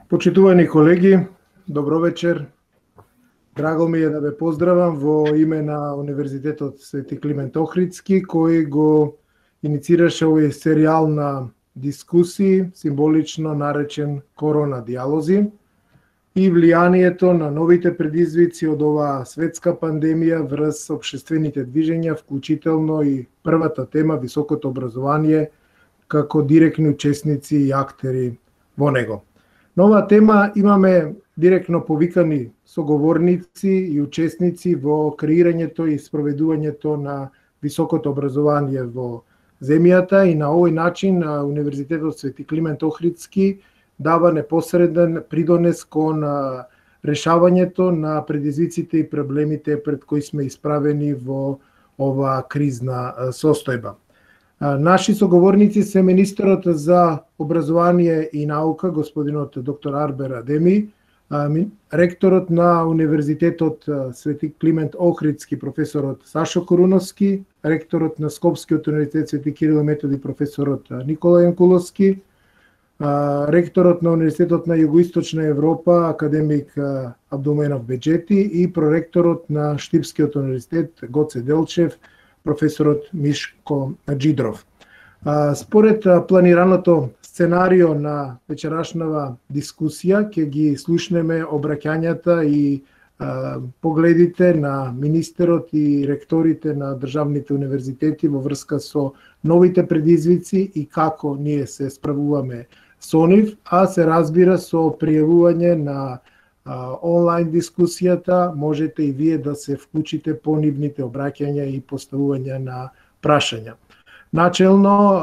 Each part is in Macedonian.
Почитувани колеги, добро вечер. Драго ми е да ве поздравам во име на Универзитетот Свети Климент Охридски, кој го иницираше овој серијал на дискусии, символично наречен Корона диалози, и влијанието на новите предизвици од оваа светска пандемија врз општествените движења, вклучително и првата тема високото образование како директни учесници и актери во него. На оваа тема имаме директно повикани соговорници и учесници во креирањето и спроведувањето на високото образование во земјата и на овој начин Универзитетот Свети Климент Охридски дава непосреден придонес кон решавањето на предизвиците и проблемите пред кои сме исправени во оваа кризна состојба. Наши соговорници се министерот за образование и наука, господинот доктор Арбер Адеми, ректорот на Универзитетот Свети Климент Охридски, професорот Сашо Коруновски, ректорот на Скопскиот универзитет Свети Кирил и Методи, професорот Никола Јанкуловски, ректорот на Универзитетот на Југоисточна Европа, академик Абдулменов Беџети и проректорот на Штипскиот универзитет Гоце Делчев, професорот Мишко Джидров. Според планираното сценарио на вечерашнава дискусија, ќе ги слушнеме обраќањата и погледите на министерот и ректорите на државните универзитети во врска со новите предизвици и како ние се справуваме со нив, а се разбира со пријавување на онлайн дискусијата можете и вие да се вклучите по нивните обраќања и поставување на прашања. Начелно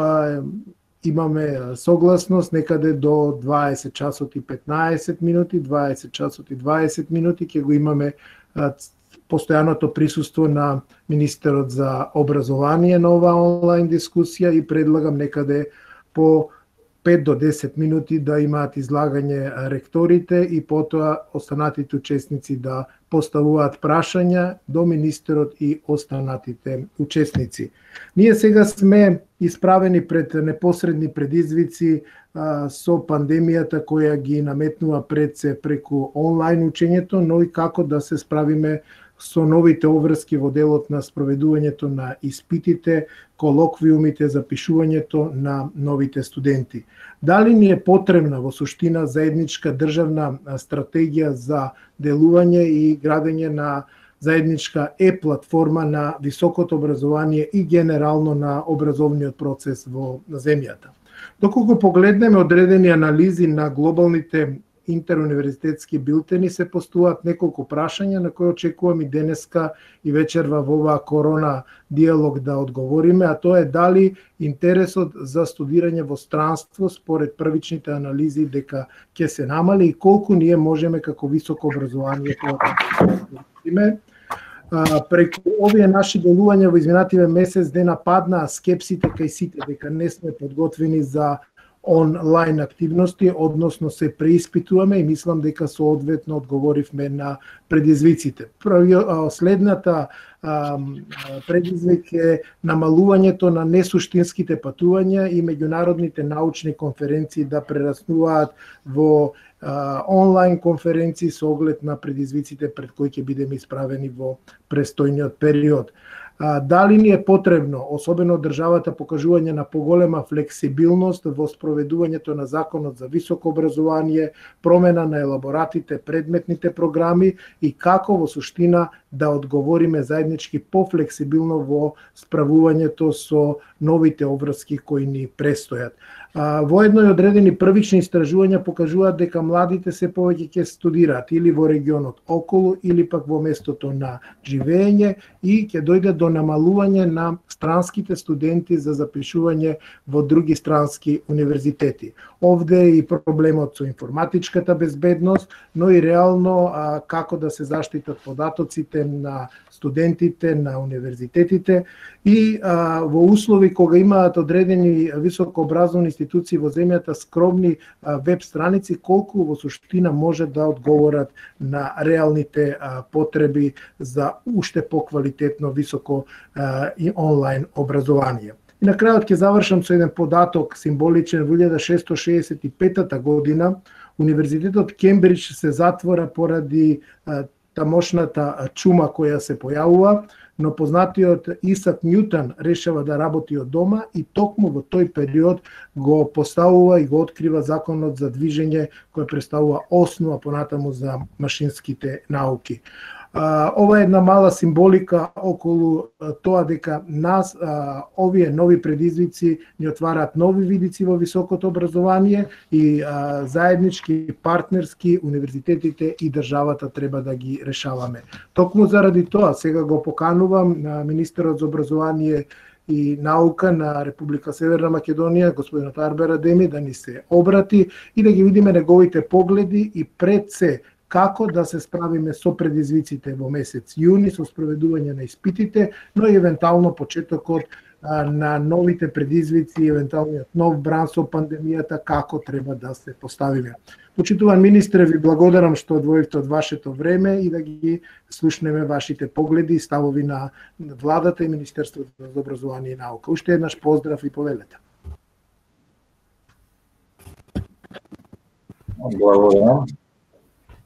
имаме согласност некаде до 20 часот и 15 минути, 20 часот и 20 минути ќе го имаме постојаното присуство на министерот за образование на оваа онлайн дискусија и предлагам некаде по 5 до 10 минути да имаат излагање ректорите и потоа останатите учесници да поставуваат прашања до министерот и останатите учесници. Ние сега сме исправени пред непосредни предизвици со пандемијата која ги наметнува пред се преку онлайн учењето, но и како да се справиме со новите обврски во делот на спроведувањето на испитите, колоквиумите, запишувањето на новите студенти. Дали ни е потребна во суштина заедничка државна стратегија за делување и градење на заедничка платформа на високото образование и генерално на образовниот процес во земјата? Доколку погледнеме одредени анализи на глобалните интеруниверзитетски билтени, се постуваат неколку прашања на кои очекувам и денеска и вечерва во оваа корона диалог да одговориме, а тоа е дали интересот за студирање во странство според првичните анализи дека ќе се намали и колку ние можеме како високо образование да студиме. Преку овие наши делувања во изминативе месец дена паднаа скепсите кај сите дека не сме подготвени за онлайн активности, односно се преиспитуваме и мислам дека соодветно одговоривме на предизвиците. Следната предизвик е намалувањето на несуштинските патувања и меѓународните научни конференции да прераснуваат во онлайн конференции со оглед на предизвиците пред кои ќе бидеме исправени во престојниот период. Дали ни е потребно, особено државата, покажување на поголема флексибилност во спроведувањето на законот за високо образование, промена на елаборатите, предметните програми и како во суштина да одговориме заеднички пофлексибилно во справувањето со новите обврски кои ни престојат. Воедно и одредени првични истражувања покажуваат дека младите се повеќе ќе студираат или во регионот околу или пак во местото на живење и ќе дојде до намалување на странските студенти за запишување во други странски универзитети. Овде е и проблемот со информатичката безбедност, но и реално како да се заштитат податоците на студентите, на универзитетите и во услови кога имаат одредени високообразовни институции во земјата скромни веб страници, колку во суштина може да одговорат на реалните потреби за уште поквалитетно високо и онлайн образование. И на крајот ќе завршам со еден податок символичен. Во 1665 година Универзитетот Кембридж се затвора поради тамошната чума која се појавува, но познатиот Исак Њутон решава да работи од дома и токму во тој период го поставува и го открива законот за движење кој представува основа понатаму за машинските науки. Ова е една мала символика околу тоа дека нас овие нови предизвици ни отвараат нови видици во високото образование и заеднички, партнерски, универзитетите и државата треба да ги решаваме. Токму заради тоа сега го поканувам на министерот за образование и наука на Република Северна Македонија, господинот Арбер Адеми, да ни се обрати и да ги видиме неговите погледи и пред се како да се справиме со предизвиците во месец јуни, со спроведување на испитите, но и евентуално почетокот на новите предизвици, евентуалниот нов бран со пандемијата, како треба да се поставиме. Почитуван министре, ви благодарам што одвоивте од вашето време и да ги слушнеме вашите погледи и ставови на владата и Министерството за образование и наука. Уште еднаш поздрав и повелете. Благодарам.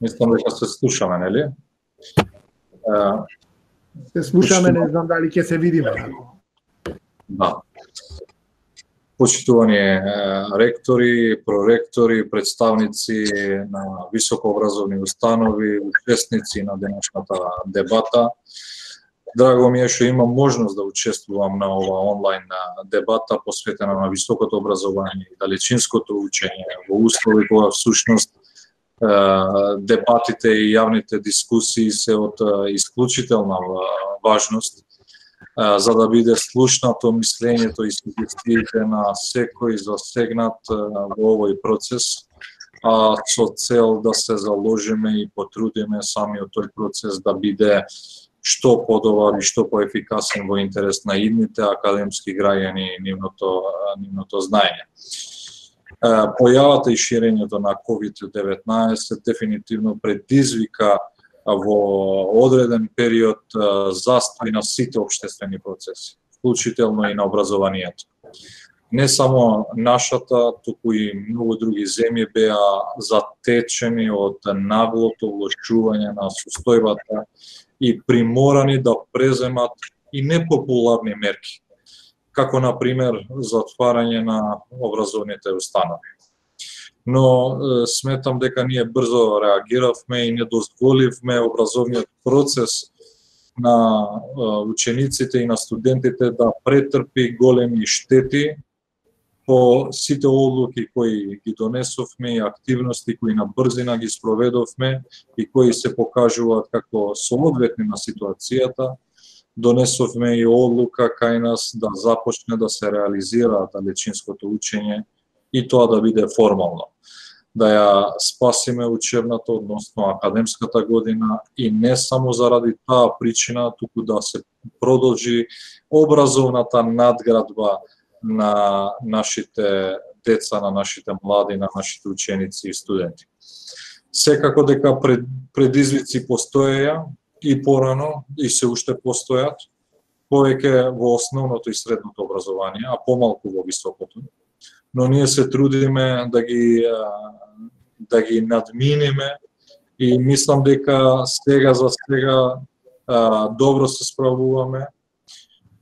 Мислам дека се слушаме, нели? Се слушаме, не знам дали ќе се видиме. Да. Почитувани ректори, проректори, представници на високообразовни установи, учесници на денешната дебата. Драго ми е што имам можност да учествувам на ова онлайн дебата посветена на високото образование и далечинското учење во услови кога всушност дебатите и јавните дискусии се од исклучителна важност за да биде слушнато мислењето и сугестиите на секој засегнат во овој процес, а со цел да се заложиме и потрудиме самиот тој процес да биде што подобар и што поефикасен во интерес на идните академски граѓани и нивното знаење. Појавата и ширењето на COVID-19 дефинитивно предизвика во одреден период застој на сите општествени процеси, вклучително и на образованието. Не само нашата, туку и многу други земји беа затечени од наглото влошување на состојбата и приморани да преземат и непопуларни мерки, како на пример затварање на образовните установи. Но сметам дека ние брзо реагиравме и не дозволивме образовниот процес на учениците и на студентите да претрпи големи штети по сите одлуки кои ги донесовме и активности кои на брзина ги спроведовме и кои се покажуваат како соодветни на ситуацијата. Донесовме и одлука кај нас да започне да се реализира далечинското учење и тоа да биде формално. Да ја спасиме учебната, односно академската година и не само заради таа причина, туку да се продолжи образовната надградба на нашите деца, на нашите млади, на нашите ученици и студенти. Секако дека предизвици постоеја и порано и се уште постојат, повеќе во основното и средното образование, а помалку во високото. Но ние се трудиме да ги надминеме и мислам дека сега за сега добро се справуваме.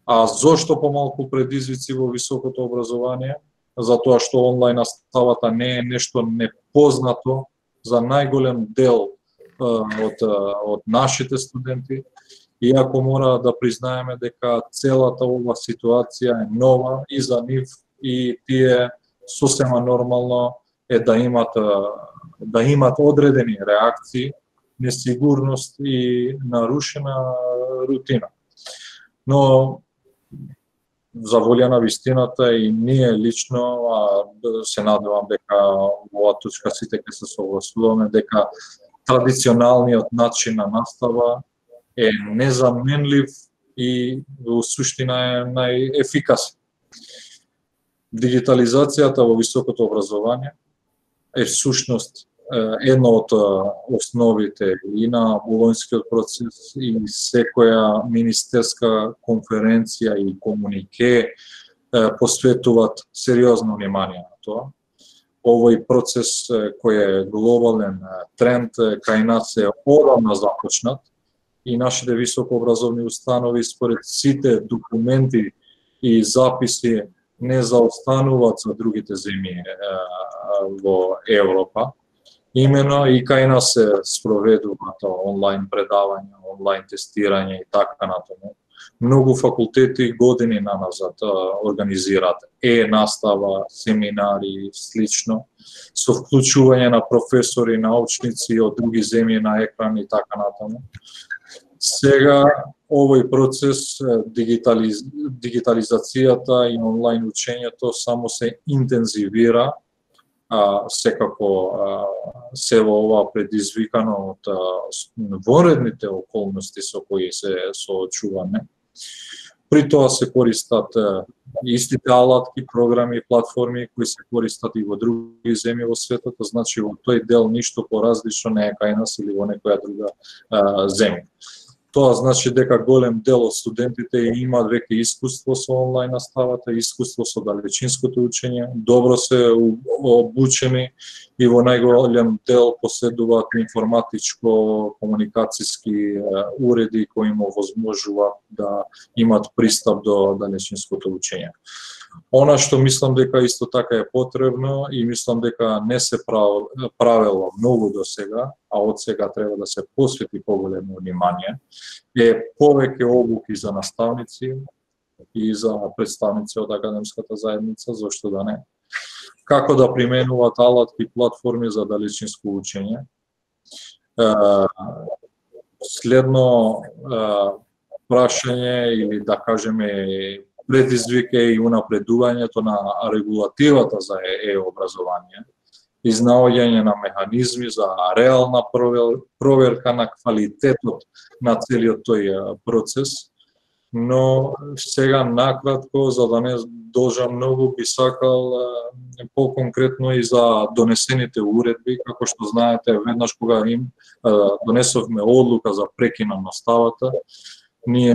А зошто помалку предизвици во високото образование? Затоа што онлайн наставата не е нешто непознато за најголем дел од нашите студенти, иако мора да признаеме дека целата ова ситуација е нова и за нив и тие сосема нормално е да имат одредени реакции, несигурност и нарушена рутина. Но за волја на вистината и ние лично се надевам дека во оваа точка сите ќе се согласуваме дека традиционалниот начин на настава е незаменлив и во суштина е најефикасен. Дигитализацијата во високото образование е всушност една од основите и на Болонјскиот процес и секоја министерска конференција и комунике посветуваат сериозно внимание на тоа. овој процес кој е глобален тренд кај нас е одамна започнат и нашите високообразовни установи според сите документи и записи не заостануваат за другите земји во Европа. Имено и кај нас се спроведуваат онлайн предавања, онлайн тестирање и така натаму. Многу факултети години наназад организираат настава, семинари и слично, со вклучување на професори, научници од други земји на екран и така натаму. Сега овој процес, дигитализацијата и онлайн учењето само се интензивира, секако се во ова предизвикано од вонредните околности со кои се соочуваме. При тоа се користат истите алатки, програми, платформи кои се користат и во други земји во светот, значи во тој дел ништо поразлично не е кај нас или во некоја друга земја. Тоа значи дека голем дел од студентите имаат веќе искуство со онлайн наставата, искуство со далечинското учење, добро се обучени и во најголем дел поседуваат информатичко-комуникацијски уреди кои им овозможуваат да имат пристап до далечинското учење. Она што мислам дека исто така е потребно и мислам дека не се правело многу до сега, а од сега треба да се посвети поголемо внимание, е повеќе обуки за наставници и за представници од академската заедница, зошто да не, како да применуваат алатки и платформи за далечинско учење. Следно прашање или да кажеме предизвик е и унапредувањето на регулативата за образование, изнаоѓање на механизми за реална проверка на квалитетот на целиот тој процес, но сега накратко, за да не должам многу, би сакал по-конкретно и за донесените уредби, како што знаете, веднаш кога донесовме одлука за прекин на наставата, ние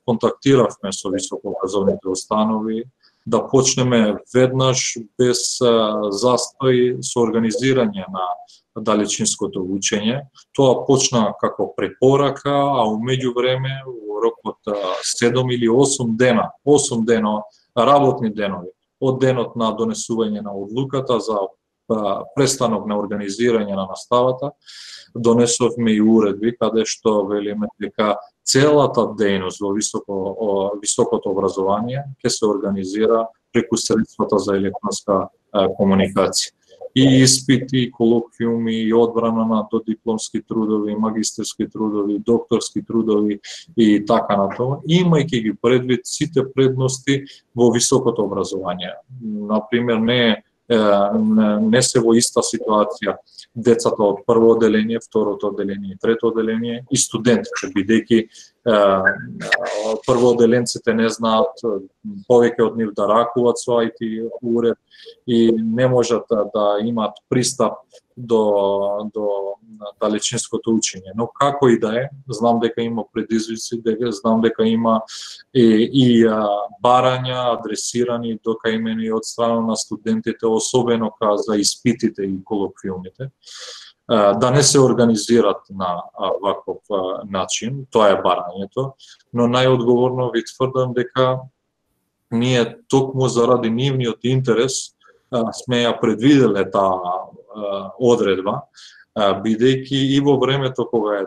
контактиравме со високообразовните установи да почнеме веднаш без застој со организирање на далечинското учење. Тоа почна како препорака, а умеѓу време во рок од 7 или 8 дена, 8 дена работни денови од денот на донесување на одлуката за престанок на организирање на наставата, донесовме и уредби каде што велиме дека целата дејност во високото образование ќе се организира преку средствата за електронска комуникација. И испити, и колоквиуми, и одбрана на додипломски трудови, магистерски трудови, докторски трудови и така натаму, имајќи ги предвид сите предности во високото образование. Например, не се во иста ситуација децата од прво оделение, второто оделение и трето оделение и студентите, бидејќи првооделенците не знаат повеќе од нив да ракуваат со IT уред и не можат да имаат пристап до далечинското учење. Но како и да е, знам дека има предизвици, знам дека има и барања адресирани до кај од страна на студентите, особено за испитите и колоквиумите, да не се организират на ваков начин, тоа е барањето, но најодговорно ви тврдам дека ние токму заради нивниот интерес сме ја предвиделе таа одредба, бидејќи и во времето кога е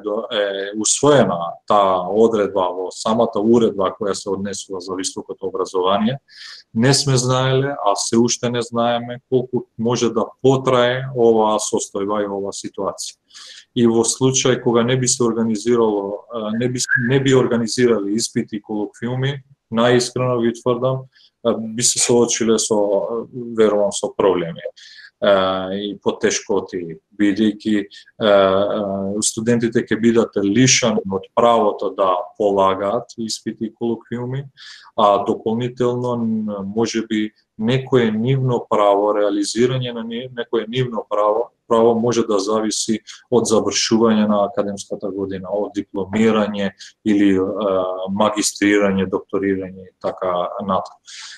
усвоена таа одредба во самата уредба која се однесува за високото образование, не сме знаеле, а се уште не знаеме колку може да потрае оваа состојба и оваа ситуација. И во случај кога не би се организирало, не би организирали испити и колоквиуми, најискрено ви тврдам, би се соочиле верувам со проблеми и потешкоти, бидејќи студентите ќе бидат лишани од правото да полагаат испити и колоквиуми, а дополнително можеби некое нивно право, реализирање на некое нивно право право може да зависи од завршување на академската година, од дипломирање или магистрирање, докторирање и така натаму.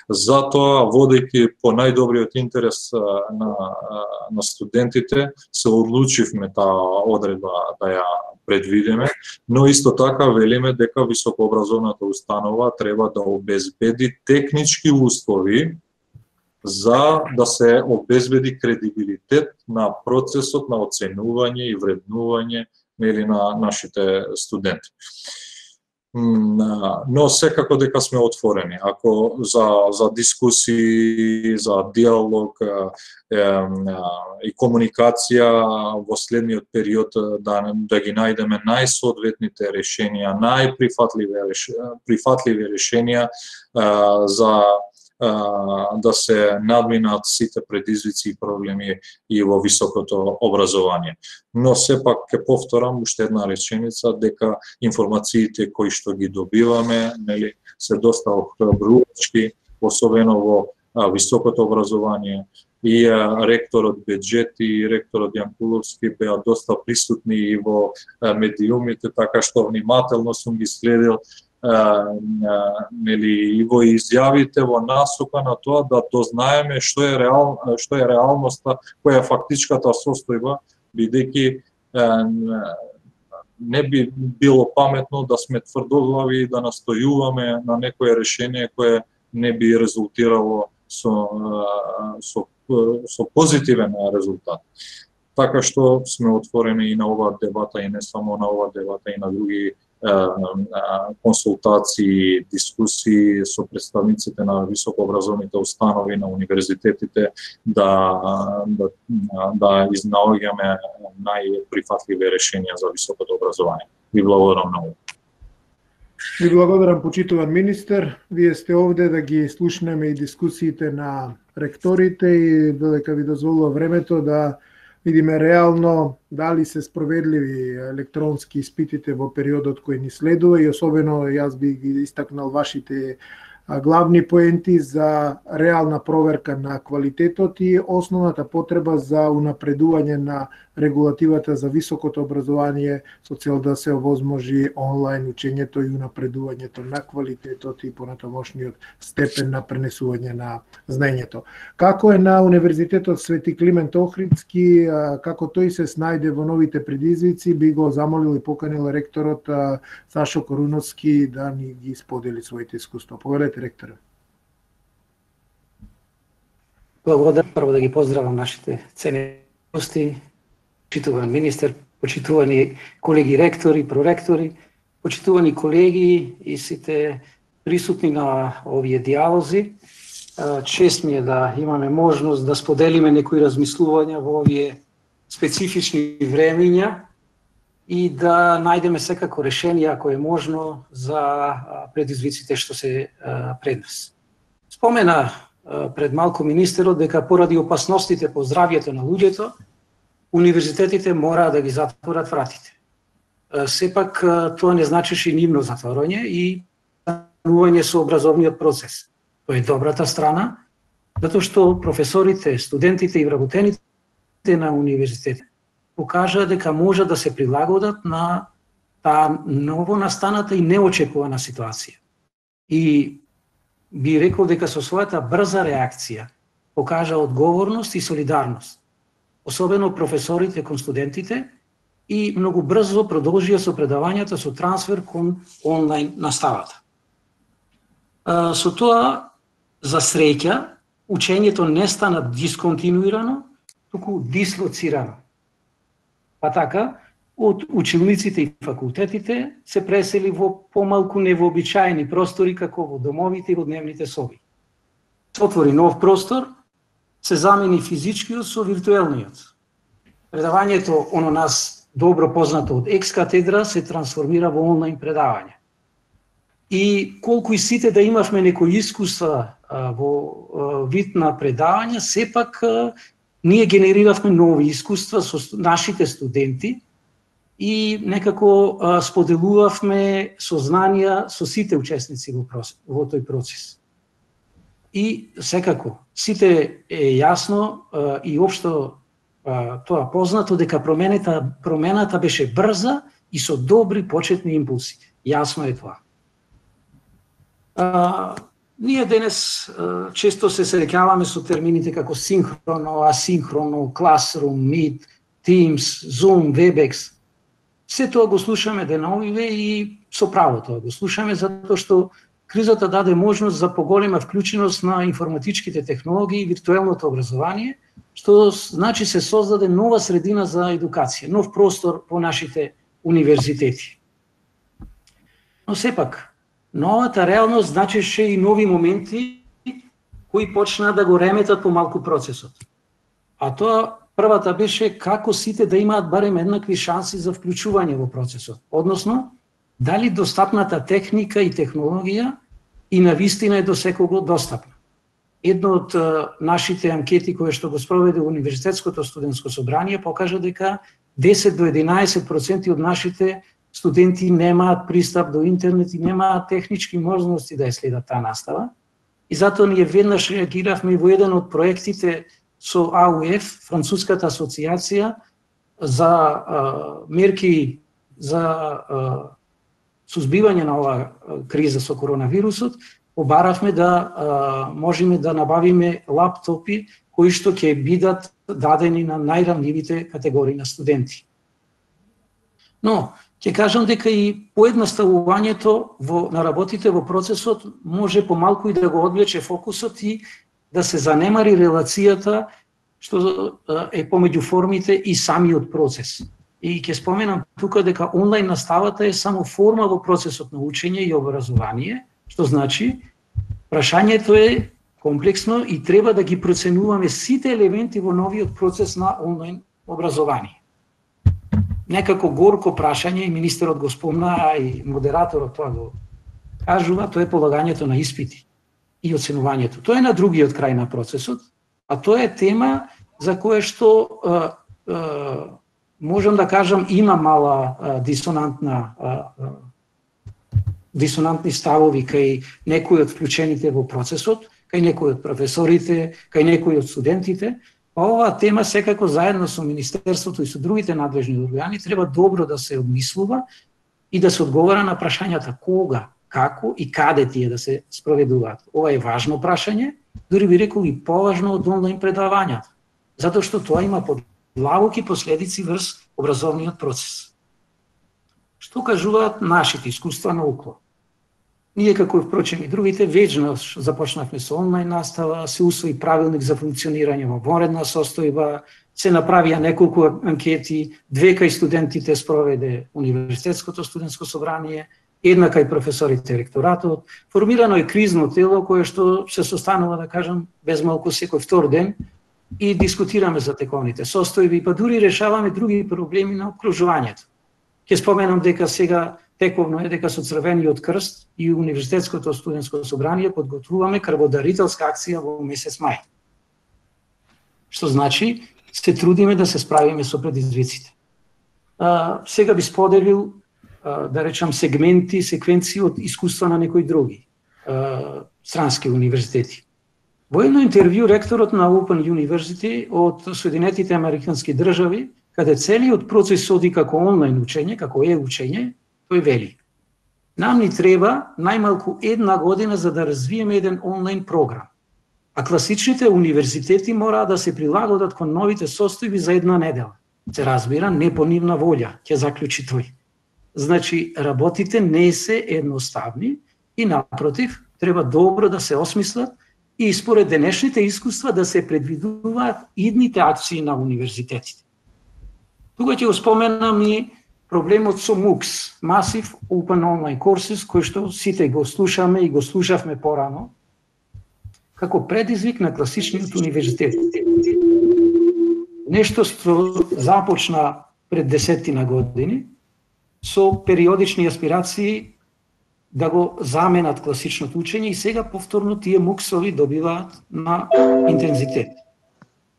Затоа, водејќи по најдобриот интерес на студентите, се одлучивме таа одредба да ја предвидиме, но исто така велиме дека високообразовната установа треба да обезбеди технички услови за да се обезбеди кредибилитет на процесот на оценување и вреднување на нашите студенти. Но секако дека сме отворени. Ако за дискусии, за диалог и комуникација во следниот период да ги најдеме најсоодветните решенија, најприфатливи решенија за да се надминат сите предизвици и проблеми и во високото образование. Но сепак ќе повторам уште една реченица дека информациите кои што ги добиваме, се доста охрабрувачки, особено во високото образование. И ректорот Беџети и ректорот Јанкуловски беа доста присутни и во медиумите, така што внимателно сум ги следил и во изјавите во насока на тоа да дознаеме што е реалноста, која е фактичката состојба, бидејќи не би било паметно да сме тврдоглави и да настојуваме на некое решение кое не би резултирало со позитивен резултат. Така што сме отворени и на оваа дебата, и не само на оваа дебата, и на други консултации, дискусии со представниците на високообразовните установи, на универзитетите, да изнаоѓаме најприфатливи решенија за високото образование. Ви благодарам многу. Ви благодарам, почитуван министер. Вие сте овде да ги слушнеме и дискусиите на ректорите и додека ви дозволува времето да видиме реално дали се спроведливи електронски испитите во периодот кој ни следува и особено јас би ги истакнал вашите главни поенти за реална проверка на квалитетот и основната потреба за унапредување на регулативата за високото образование со цел да се овозможи онлайн учењето и унапредувањето на квалитетот и понатамошниот степен на пренесување на знаењето. Како е на Универзитетот Свети Климент Охридски, како тој се снајде во новите предизвици, би го замолил и поканил ректорот Сашо Коруновски да ни ги сподели своите искуства. Повелете, ректора. Благодарам, прво да ги поздравам нашите ценени гости, почитуван министер, почитувани колеги ректори, проректори, почитувани колеги и сите присутни на овие диалози. Чест ми е да имаме можност да споделиме некои размислувања во овие специфични времења и да најдеме секако решение, ако е можно, за предизвиците што се пред нас. Спомена пред малку министерот дека поради опасностите по здравјето на луѓето, универзитетите мора да ги затворат вратите. Сепак тоа не значеше нивно затворање и станување со образовниот процес. Тоа е добрата страна, затоа што професорите, студентите и вработените на универзитетите покажа дека може да се прилагодат на таа ново настаната и неочекувана ситуација. И би рекол дека со својата брза реакција покажа одговорност и солидарност, особено професорите кон студентите, и многу брзо продолжија со предавањата со трансфер кон онлайн наставата. Со тоа, за среќа, учењето не стана дисконтинуирано, туку дислоцирано. Па така, од училниците и факултетите се пресели во помалку невообичаени простори како во домовите и во дневните соби. Се отвори нов простор, се замени физичкиот со виртуелниот. Предавањето, оно нас добро познато од екс-катедра, се трансформира во онлайн предавање. И колку и сите да имавме некои искуства во вид на предавања, сепак ние генериравме нови искуства со нашите студенти и некако споделувавме сознанија со сите учесници во тој процес. И секако, сите е јасно и општо тоа познато дека промената беше брза и со добри почетни импулси. Јасно е тоа. Ние денес често се среќаваме со термините како синхроно, асинхроно, Classroom, Meet, Teams, Zoom, Webex. Се тоа го слушаме деновиве и со право тоа го слушаме, затоа што кризата даде можност за поголема вклученост на информатичките технологии и виртуелното образование, што значи се создаде нова средина за едукација, нов простор по нашите универзитети. Но сепак, новата реалност значеше и нови моменти кои почнаа да го реметат помалку процесот. А тоа првата беше како сите да имаат барем еднакви шанси за вклучување во процесот, односно дали достапната техника и технологија и навистина е до секого достапна. Едно од нашите анкети кои што го спроведе Универзитетското студентско собрание покажа дека 10 до 11% од нашите студенти немаат пристап до интернет и немаат технички можности да ја следат таа настава. И затоа ние веднаш реагиравме во еден од проектите со АУФ, Француската асоциација за мерки за сузбивање на оваа криза со коронавирусот, побаравме да можеме да набавиме лаптопи кои што ќе бидат дадени на најранливите категории на студенти. Но ќе кажам дека и поедноставувањето на работите во процесот може помалку и да го одвлече фокусот и да се занемари релацијата што е помеѓу формите и самиот процес. И ќе споменам тука дека онлайн наставата е само форма во процесот на учење и образование, што значи прашањето е комплексно и треба да ги проценуваме сите елементи во новиот процес на онлайн образование. Некако горко прашање, и министерот го спомна, а и модераторот тоа го кажува, тоа е полагањето на испити и оценувањето. Тоа е на другиот крај на процесот, а тоа е тема за која што можам да кажам има мала дисонантни ставови кај некои од вклучените во процесот, кај некои од професорите, кај некои од студентите. Оваа тема секако заедно со Министерството и со другите надлежни органи треба добро да се обмислува и да се одговара на прашањата кога, како и каде тие да се спроведуваат. Ова е важно прашање, дури би рекол и поважно од онлайн предавањата, затоа што тоа има длабоки последици врз образовниот процес. Што кажуваат нашите искуства на УКЛО? Ние, како впрочем и другите, вечно започнавме со онлайн настава, се усвои правилник за функционирање во вонредна состојба, се направија неколку анкети, 2 кај студентите спроведе Универзитетското студентско собрание, 1 кај професорите ректоратот, формирано е кризно тело кое што се состанува, да кажам, без малку секој втор ден и дискутираме за тековните состојби, па дури решаваме други проблеми на окружувањето. Ќе споменам дека сега тековно е дека со Црвениот крст и Универзитетското студентско собрание подготвуваме крводарителска акција во месец мај. Што значи, се трудиме да се справиме со предизвиците. Сега би споделил, да речам, секвенции од искуства на некои други странски универзитети. Во едно интервју ректорот на Open University од Соединетите Американски држави, каде целиот процес оди како онлайн учење, како учење, тој вели: нам ни треба најмалку 1 година за да развиеме еден онлайн програм, а класичните универзитети мора да се прилагодат кон новите состојби за 1 недела. Се разбира, не по нивна волја, ќе заклучи тој. Значи, работите не се едноставни и напротив, треба добро да се осмислат и според денешните искуства да се предвидуваат идните акции на универзитетите. Тука ќе го споменам и проблемот со MOOCs, Massive Open Online Courses, кој што сите го слушаме и го слушавме порано, како предизвик на класичниот универзитет. Нешто што започна пред 10 години, со периодични аспирации да го заменат класичното учење и сега повторно тие MOOCs-ови добиваат на интензитет.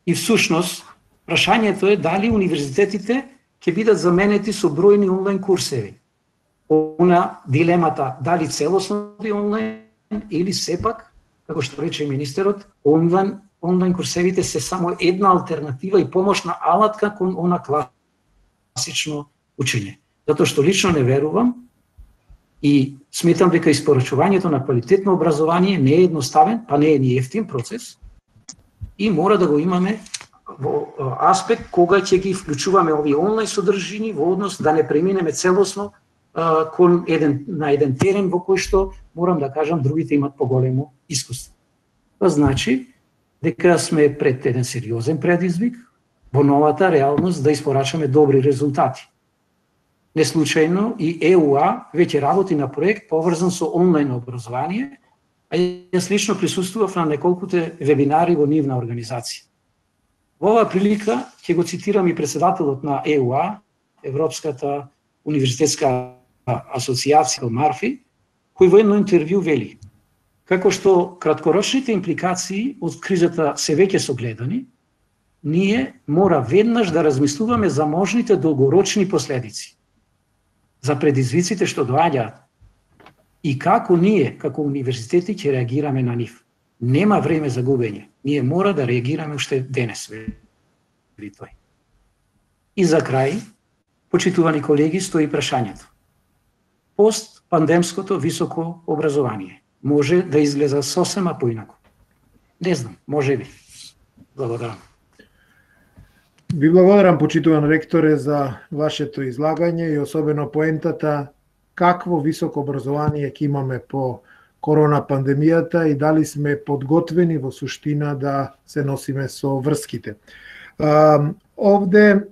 И всушност, прашањето е дали универзитетите ќе бидат заменети со бројни онлайн курсеви. Она дилемата дали целосно онлайн или сепак, како што рече министерот, онлайн онлайн курсевите се само една алтернатива и помошна алатка кон она класично учење. Затоа што лично не верувам и сметам дека испорачувањето на квалитетно образование не е едноставен, па не е ни ефтин процес и мора да го имаме во аспект кога ќе ги вклучуваме овие онлайн содржини во однос да не преминеме целосно на еден терен во кој што, морам да кажам, другите имат поголемо искуство. Тоа значи дека сме пред еден сериозен предизвик во новата реалност да испорачаме добри резултати. Не случајно и ЕУА веќе работи на проект поврзан со онлайн образование, а јас лично присуствував на неколкуте вебинари во нивна организација. Во оваа прилика ќе го цитирам и председателот на ЕУА, Европската универзитетска асоциација Марфи, кој во едно интервју вели: како што краткорочните импликации од кризата се веќе согледани, ние мора веднаш да размислуваме за можните долгорочни последици, за предизвиците што доаѓаат и како ние, како универзитети, ќе реагираме на нив. Нема време за губење. Ние мора да реагираме уште денес, вели тој. И за крај, почитувани колеги, стои прашањето. Пост-пандемското високо образование може да изгледа сосема поинаку. Не знам, може би. Благодарам. Ви благодарам, почитуван ректоре, за вашето излагање и особено поентата какво високо образование ќе имаме по корона пандемијата и дали сме подготвени во суштина да се носиме со врските. Овде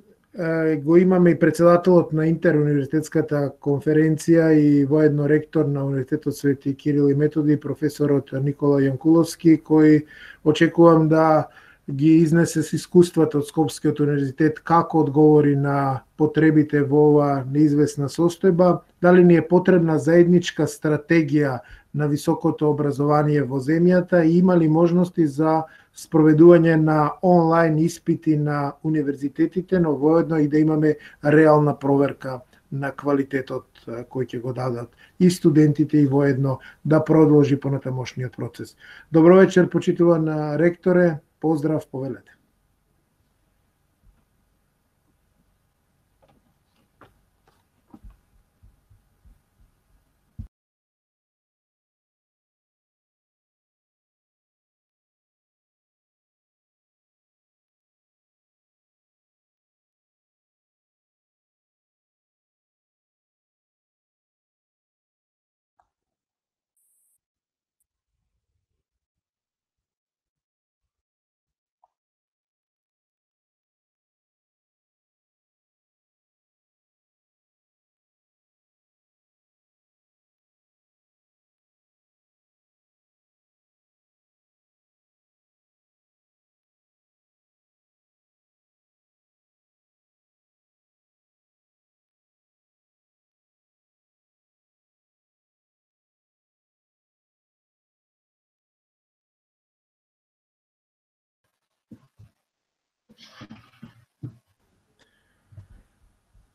го имаме и председателот на Интеруниверзитетската конференција и воедно ректор на Универзитетот Свети Кирил и Методи, професорот Никола Јанкуловски, кој очекувам да ги изнесе с искуствата од Скопскиот универзитет како одговори на потребите во ова неизвестна состојба, дали ни е потребна заедничка стратегија на високото образование во земјата и има ли можности за спроведување на онлайн испити на универзитетите, но воедно и да имаме реална проверка на квалитетот кој ќе го дадат и студентите и воедно да продолжи понатамошниот процес. Добро вечер, почитуван ректоре, поздрав, повелете.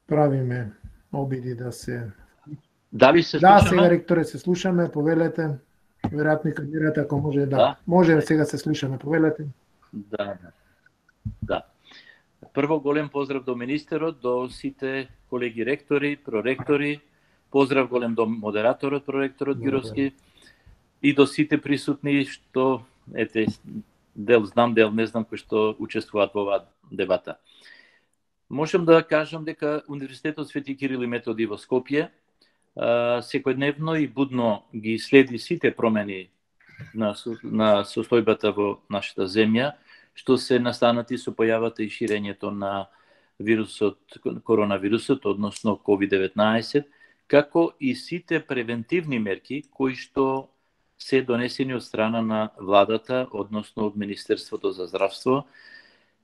Правиме обиди да се... Дали се слушаме? Да, сега ректоре се слушаме, повелете. Веројатно и камерата, ако може, да. Може, сега се слушаме, повелете. Да. Прво голем поздрав до министерот, до сите колеги ректори, проректори, поздрав голем до модераторот, проректорот Гировски и до сите присутни што, дел знам, дел не знам, кои што учествуваат во оваа дебата. Можам да кажам дека Универзитетот Свети Кирил и Методи во Скопје секојдневно и будно ги следи сите промени на состојбата во нашата земја, што се настанати со појавата и ширењето на вирусот, коронавирусот, односно COVID-19, како и сите превентивни мерки кои што се донесени од страна на владата, односно од Министерството за здравство,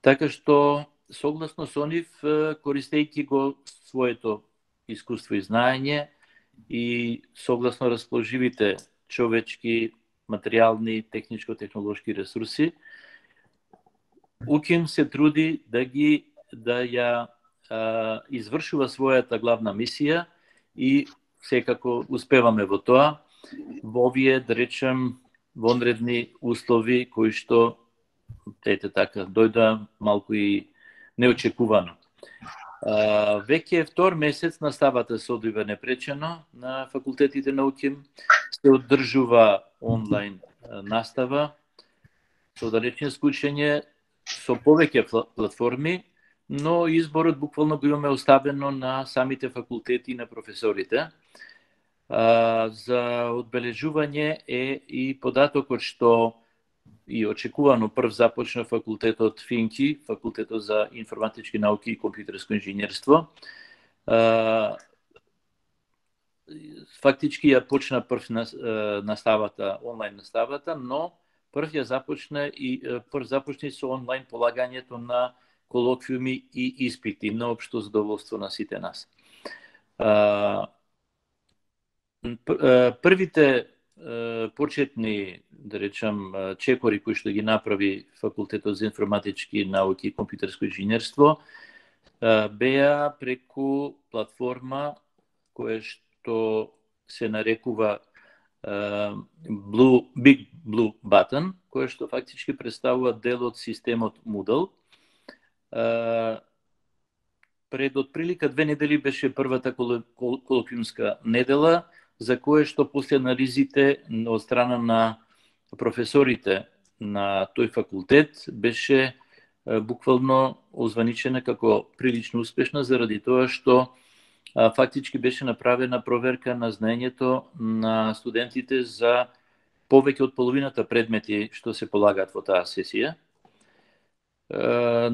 така што согласно со нив, користејќи го своето искуство и знаење и согласно расположивите човечки, материјални, техничко-технолошки ресурси, УКИМ се труди да ја извршува својата главна мисија и секако успеваме во тоа, во овие, да речем, вонредни услови кои што ете така, дојда малку и неочекувано. Веќе втор месец наставата се одвива непречено на факултетите на УКИМ, се одржува онлайн настава, со далечинско учење, со повеќе платформи, но изборот буквално го имаме оставено на самите факултети и на професорите. За одбележување е и податокот што и очекувано прв започна факултетот ФИНКИ, факултетот за информатички науки и компјутерско инженерство. Фактички ја почна прв наставата, онлайн наставата, но прв започна со онлайн полагањето на колоквиуми и испити, на општо задоволство на сите нас. Првите почетни, да речам, чекори кои што ги направи факултетот за информатички науки и компјутерско инженерство беа преку платформа која што се нарекува Big Blue Button, која што фактички представува дел од системот Moodle. Пред отприлика 2 недели беше првата колоквиумска недела, за кое што после анализите од страна на професорите на тој факултет беше буквално озваничена како прилично успешна, заради тоа што фактички беше направена проверка на знаењето на студентите за повеќе од половината предмети што се полагаат во таа сесија.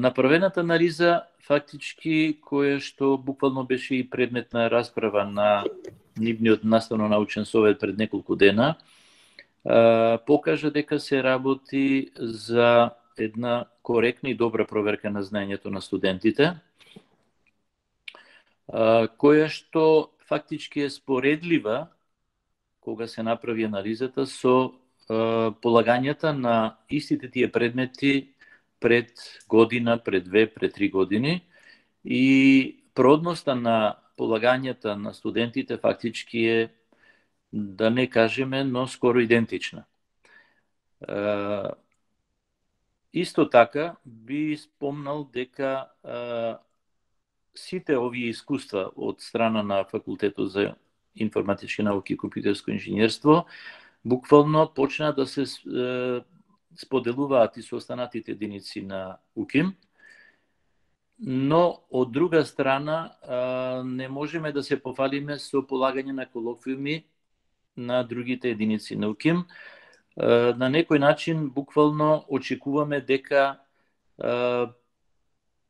Направената анализа фактички која што буквално беше и предмет на расправа на нивниот наставно-научен совет пред неколку дена, покажа дека се работи за една коректна и добра проверка на знаењето на студентите, која што фактички е споредлива кога се направи анализата со полагањата на истите тие предмети пред година, пред 2, пред 3 години, и продноста на полагањата на студентите фактички е, да не кажеме, но скоро идентична. Исто така би спомнал дека сите овие искуства од страна на факултетот за информатички науки и компјутерско инженерство буквално почна да се споделуваат и со останатите единици на УКИМ, но од друга страна не можеме да се пофалиме со полагање на колоквиуми на другите единици на УКИМ. На некој начин буквално очекуваме дека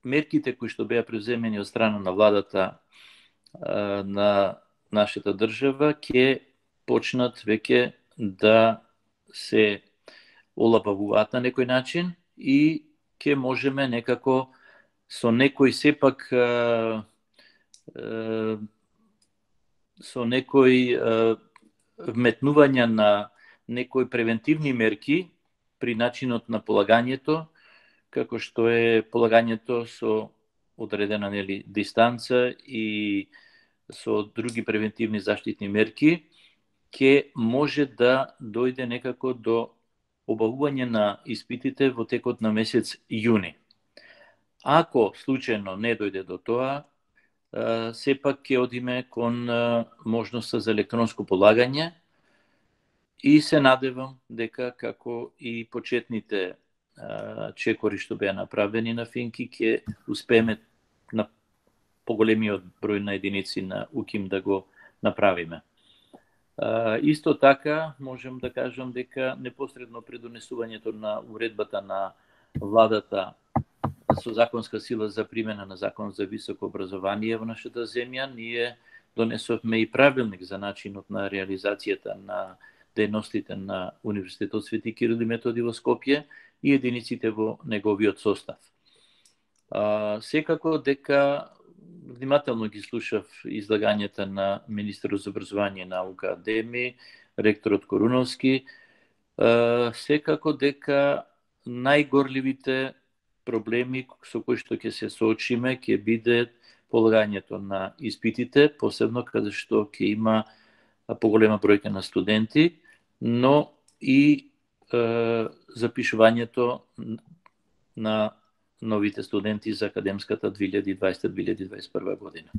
мерките кои што беа преземени од страна на владата на нашата држава ќе почнат веќе да се олабавуваат на некој начин и ќе можеме некако со некој сепак со некој вметнување на некои превентивни мерки при начинот на полагањето, како што е полагањето со одредена дистанца и со други превентивни заштитни мерки, ќе може да дојде некако до обавување на испитите во текот на месец јуни. Ако случајно не дојде до тоа, сепак ќе одиме кон можноста за електронско полагање и се надевам дека како и почетните чекори што беа направени на ФИНКИ ќе успееме на поголемиот број на единици на УКИМ да го направиме. Исто така можам да кажам дека непосредно пред донесувањето на уредбата на владата со законска сила за примена на Закон за високо образование во нашата земја, ние донесовме и правилник за начинот на реализацијата на дејностите на Универзитетот Свети Кирил и Методи во Скопје и единиците во неговиот состав. Секако дека внимателно ги слушав излагањата на министерот за образование и наука Адеми, ректорот Коруновски, секако дека најгорливите проблеми со кои што ќе се соочиме ќе биде полагањето на испитите, посебно каде што ќе има поголема бројка на студенти, но и запишувањето на новите студенти за академската 2020-2021 година.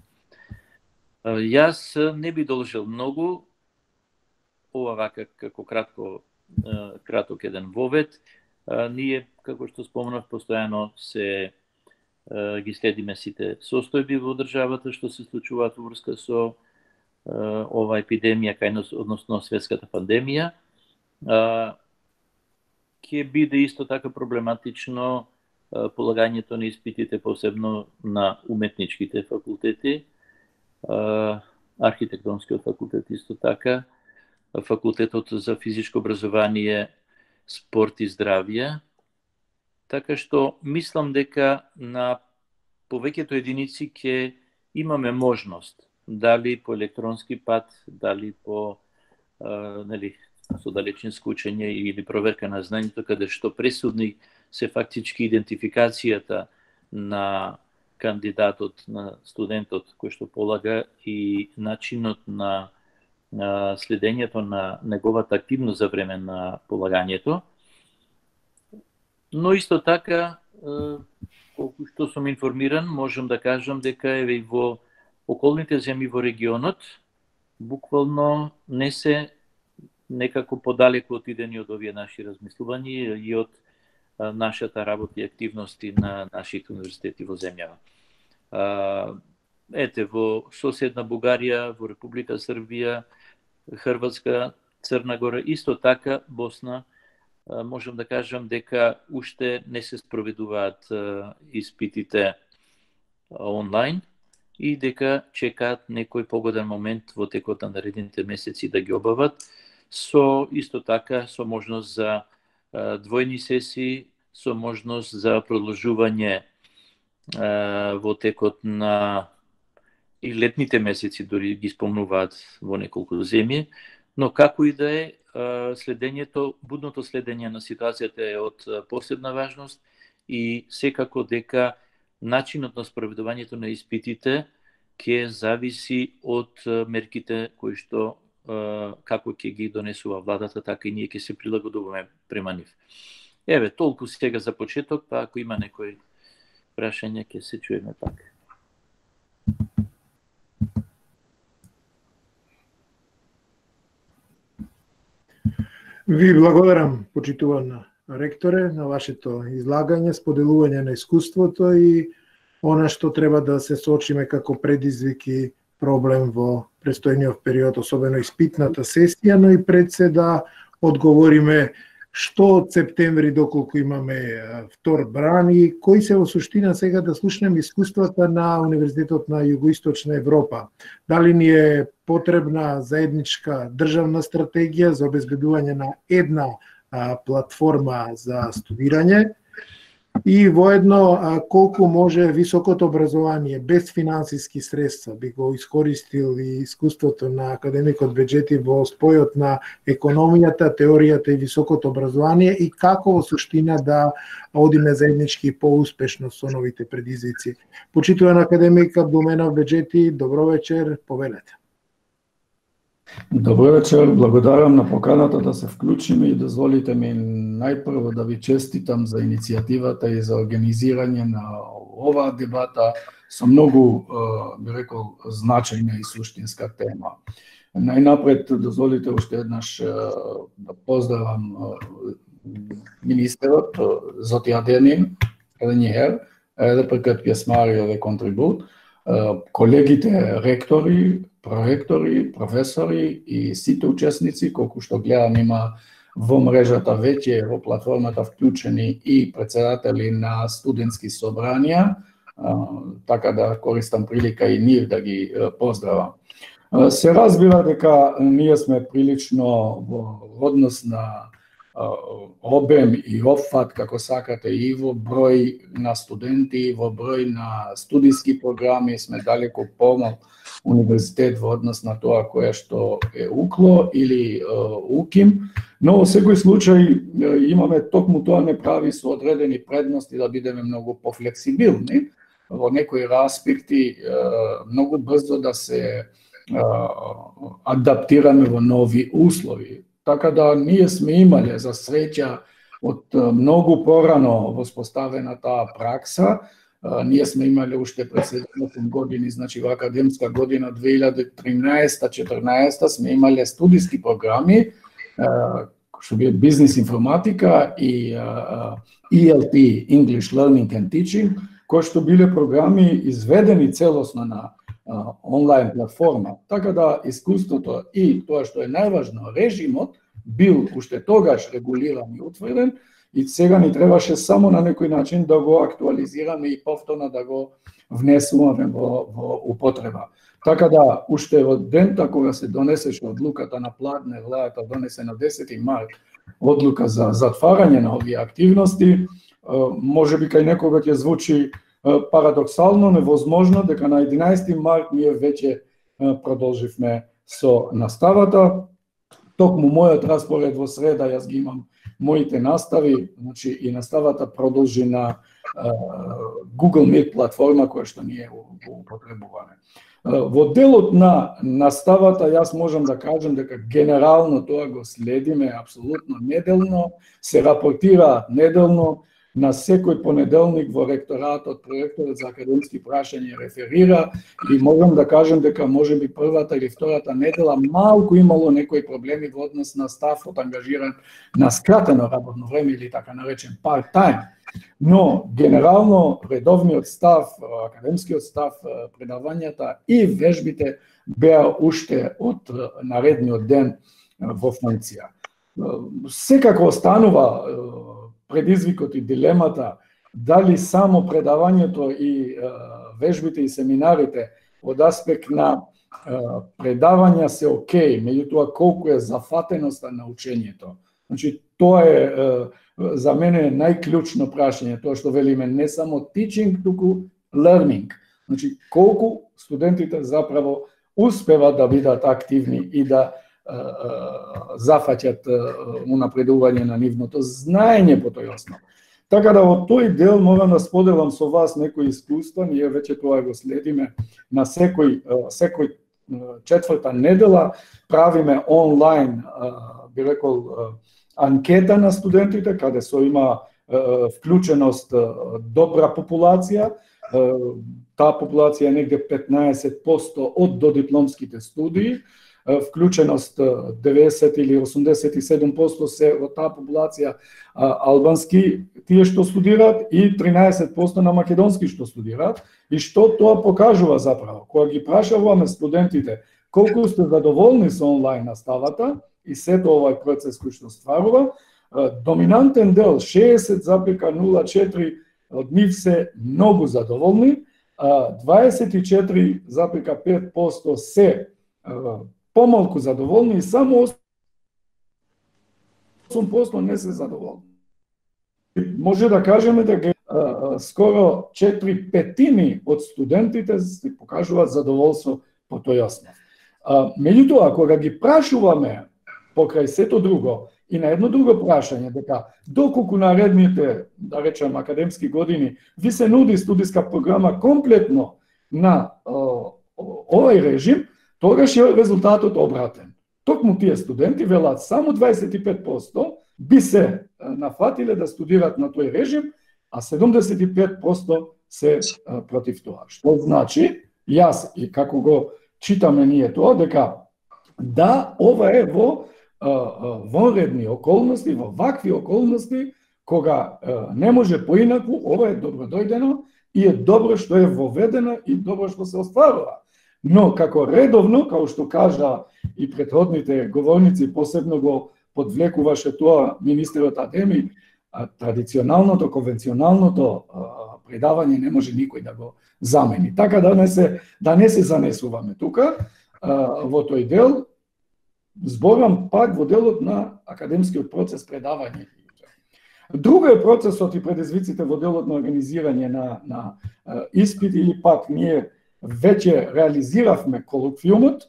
Јас не би должил многу, ова вака како краток еден вовед. Ние, како што спомнав, постојано се ги следиме сите состојби во државата што се случуваат во врска со ова епидемија, односно светската пандемија. Ќе биде исто така проблематично полагањето на испитите, посебно на уметничките факултети, архитектонскиот факултет исто така, факултетот за физичко образование, спорт и здравје. Така што мислам дека на повеќето единици ќе имаме можност, дали по електронски пат, дали по со далечинско учење или проверка на знањето, каде што пресудни се фактички идентификацијата на кандидатот, на студентот кој што полага и начинот на следењето на неговата активност за време на полагањето. Но исто така, колку што сум информиран, можам да кажам дека еве во околните земји во регионот буквално не се некако подалеку отидени од овие наши размислувања и од нашата работа и активности на нашите универзитети во земјава. Ете, во соседна Бугарија, во Република Србија, Хрватска, Црна Гора, исто така Босна, можам да кажам дека уште не се спроведуваат испитите онлайн и дека чекаат некој погоден момент во текот на наредните месеци да ги обават, со исто така со можност за двојни сесии, со можност за продолжување во текот на и летните месеци, дори ги спомнуваат во неколку земји, но како и да е, следењето, будното следење на ситуацијата е од посебна важност и секако дека начинот на спроведувањето на испитите ќе зависи од мерките кои што како ќе ги донесува владата, така и ние ќе се прилагодуваме према нив. Еве, толку сега за почеток, па ако има некои прашања, ќе се чуеме пак. Ви благодарам, почитувана ректоре, на вашето излагање, споделување на искуството и она што треба да се соочиме како предизвик и проблем во престојниот период, особено испитната сесија, но и пред се да одговориме што од септември доколку имаме втор бран и кои се во суштина сега да слушнеме искуствата на Универзитетот на Југоисточна Европа. Дали ни е потребна заедничка државна стратегија за обезбедување на една платформа за студирање и воедно колку може високото образование без финансиски средства би го искористил и искуството на академикот Беџети во спојот на економијата, теоријата и високото образование и како во суштина да одиме заеднички поуспешно со новите предизвици. Почитуван академик Абдулменов Беџети, добро вечер, повелете. Добро вечер, благодарам на поканата да се вклучиме и дозволите ми најпрво да ви честитам за иницијативата и за организирање на оваа дебата со многу, би рекол, значајна и суштинска тема. Најнапред дозволите уште еднаш да поздравам министерот Зоти Аденин, Ренјер, РПК пјесмари ове контрибут, колегите ректори, проректори, професори и сите учесници, колку што гледам има во мрежата веќе во платформата вклучени и председатели на студентски собранија, така да користам прилика и нив да ги поздравам. Се разбира дека ние сме прилично во однос на обем и опфат, како сакате, и во број на студенти, и во број на студиски програми сме далеку помал универзитет во однос на тоа кое што е УКЛО или УКИМ, но во секој случај имаме токму тоа не прави со одредени предности да бидеме многу пофлексибилни во некои аспекти, многу брзо да се адаптираме во нови услови. Така да ние сме имале за среќа од многу порано воспоставена таа пракса. Ние сме имали уште пред 7 години, значи во академска година 2013-14 сме имале студиски програми, што би бизнес информатика и ELT, English Learning and Teaching, кои што биле програми изведени целосно на онлайн платформа. Така да искуството и тоа што е најважно, режимот бил уште тогаш регулиран и утврден, и сега ни требаше само на некој начин да го актуализираме и повторно да го внесуваме во употреба. Така да, уште во дента кога се донесеше одлуката на Платнер, владата донесе на 10 март одлука за затварање на овие активности, може би кај некога ќе звучи парадоксално, невозможно, дека на 11 март ние веќе продолживме со наставата. Токму мојот распоред во среда, јас ги имам моите настави, значи и наставата продолжи на Google Meet платформа која што ние го употребуваме. Во делот на наставата јас можам да кажам дека генерално тоа го следиме апсолутно неделно, се рапортира неделно, на секој понеделник во ректоратот, проекторот за академски прашања реферира и можам да кажам дека можеби првата или втората недела малку имало некои проблеми во однос на стафот ангажиран на скратено работно време или така наречен part-time. Но генерално редовниот став, академскиот став, предавањата и вежбите беа уште од наредниот ден во функција. Секако останува предизвикот и дилемата дали само предавањето и вежбите и семинарите од аспект на предавања се окей, меѓутоа колку е зафатеноста на учењето. Значи тоа е за мене најклучно прашање, тоа што велиме не само teaching, туку learning. Значи колку студентите заправо успеват да бидат активни и да зафаќат унапредување на нивното знаење по тој основ. Така да во тој дел морам да споделам со вас некои искуства, ние веќе тоа го следиме на секој четврта недела, правиме онлайн, би рекол, анкета на студентите, каде со има вклученост добра популација, таа популација е негде 15% од додипломските студии, вклученост 90 или 87% се од таа популација албански тие што студираат и 13% на македонски што студираат. И што тоа покажува заправо? Кога ги прашаваме студентите колку сте задоволни со онлайн наставата и сето овој процес кој што стварува, доминантен дел 60,04 од нив се многу задоволни, 24,5% се помалку задоволни и само 8% не се задоволни. Може да кажеме дека скоро 4/5 од студентите се покажуваат задоволство по тој основ. Меѓутоа, кога ги прашуваме покрај сето друго и на едно друго прашање дека доколку наредните, да речем, академски години ви се нуди студиска програма комплетно на овој режим, тогаш е резултатот обратен. Токму тие студенти велат само 25% би се нафатиле да студираат на тој режим, а 75% се против тоа. Што значи, јас и како го читаме ние тоа, дека да, ова е во вонредни околности, во вакви околности, кога не може поинаку, ова е добродојдено и е добро што е воведено и добро што се остварува. Но како редовно, како што кажа и претходните говорници, посебно го подвлекуваше тоа министерот Адеми, традиционалното, конвенционалното предавање не може никој да го замени. Така да не се занесуваме тука во тој дел. Зборам пак во делот на академскиот процес предавање. Друго е процесот и предизвиците во делот на организирање на испити или пак ние веќе реализиравме колоквиумот,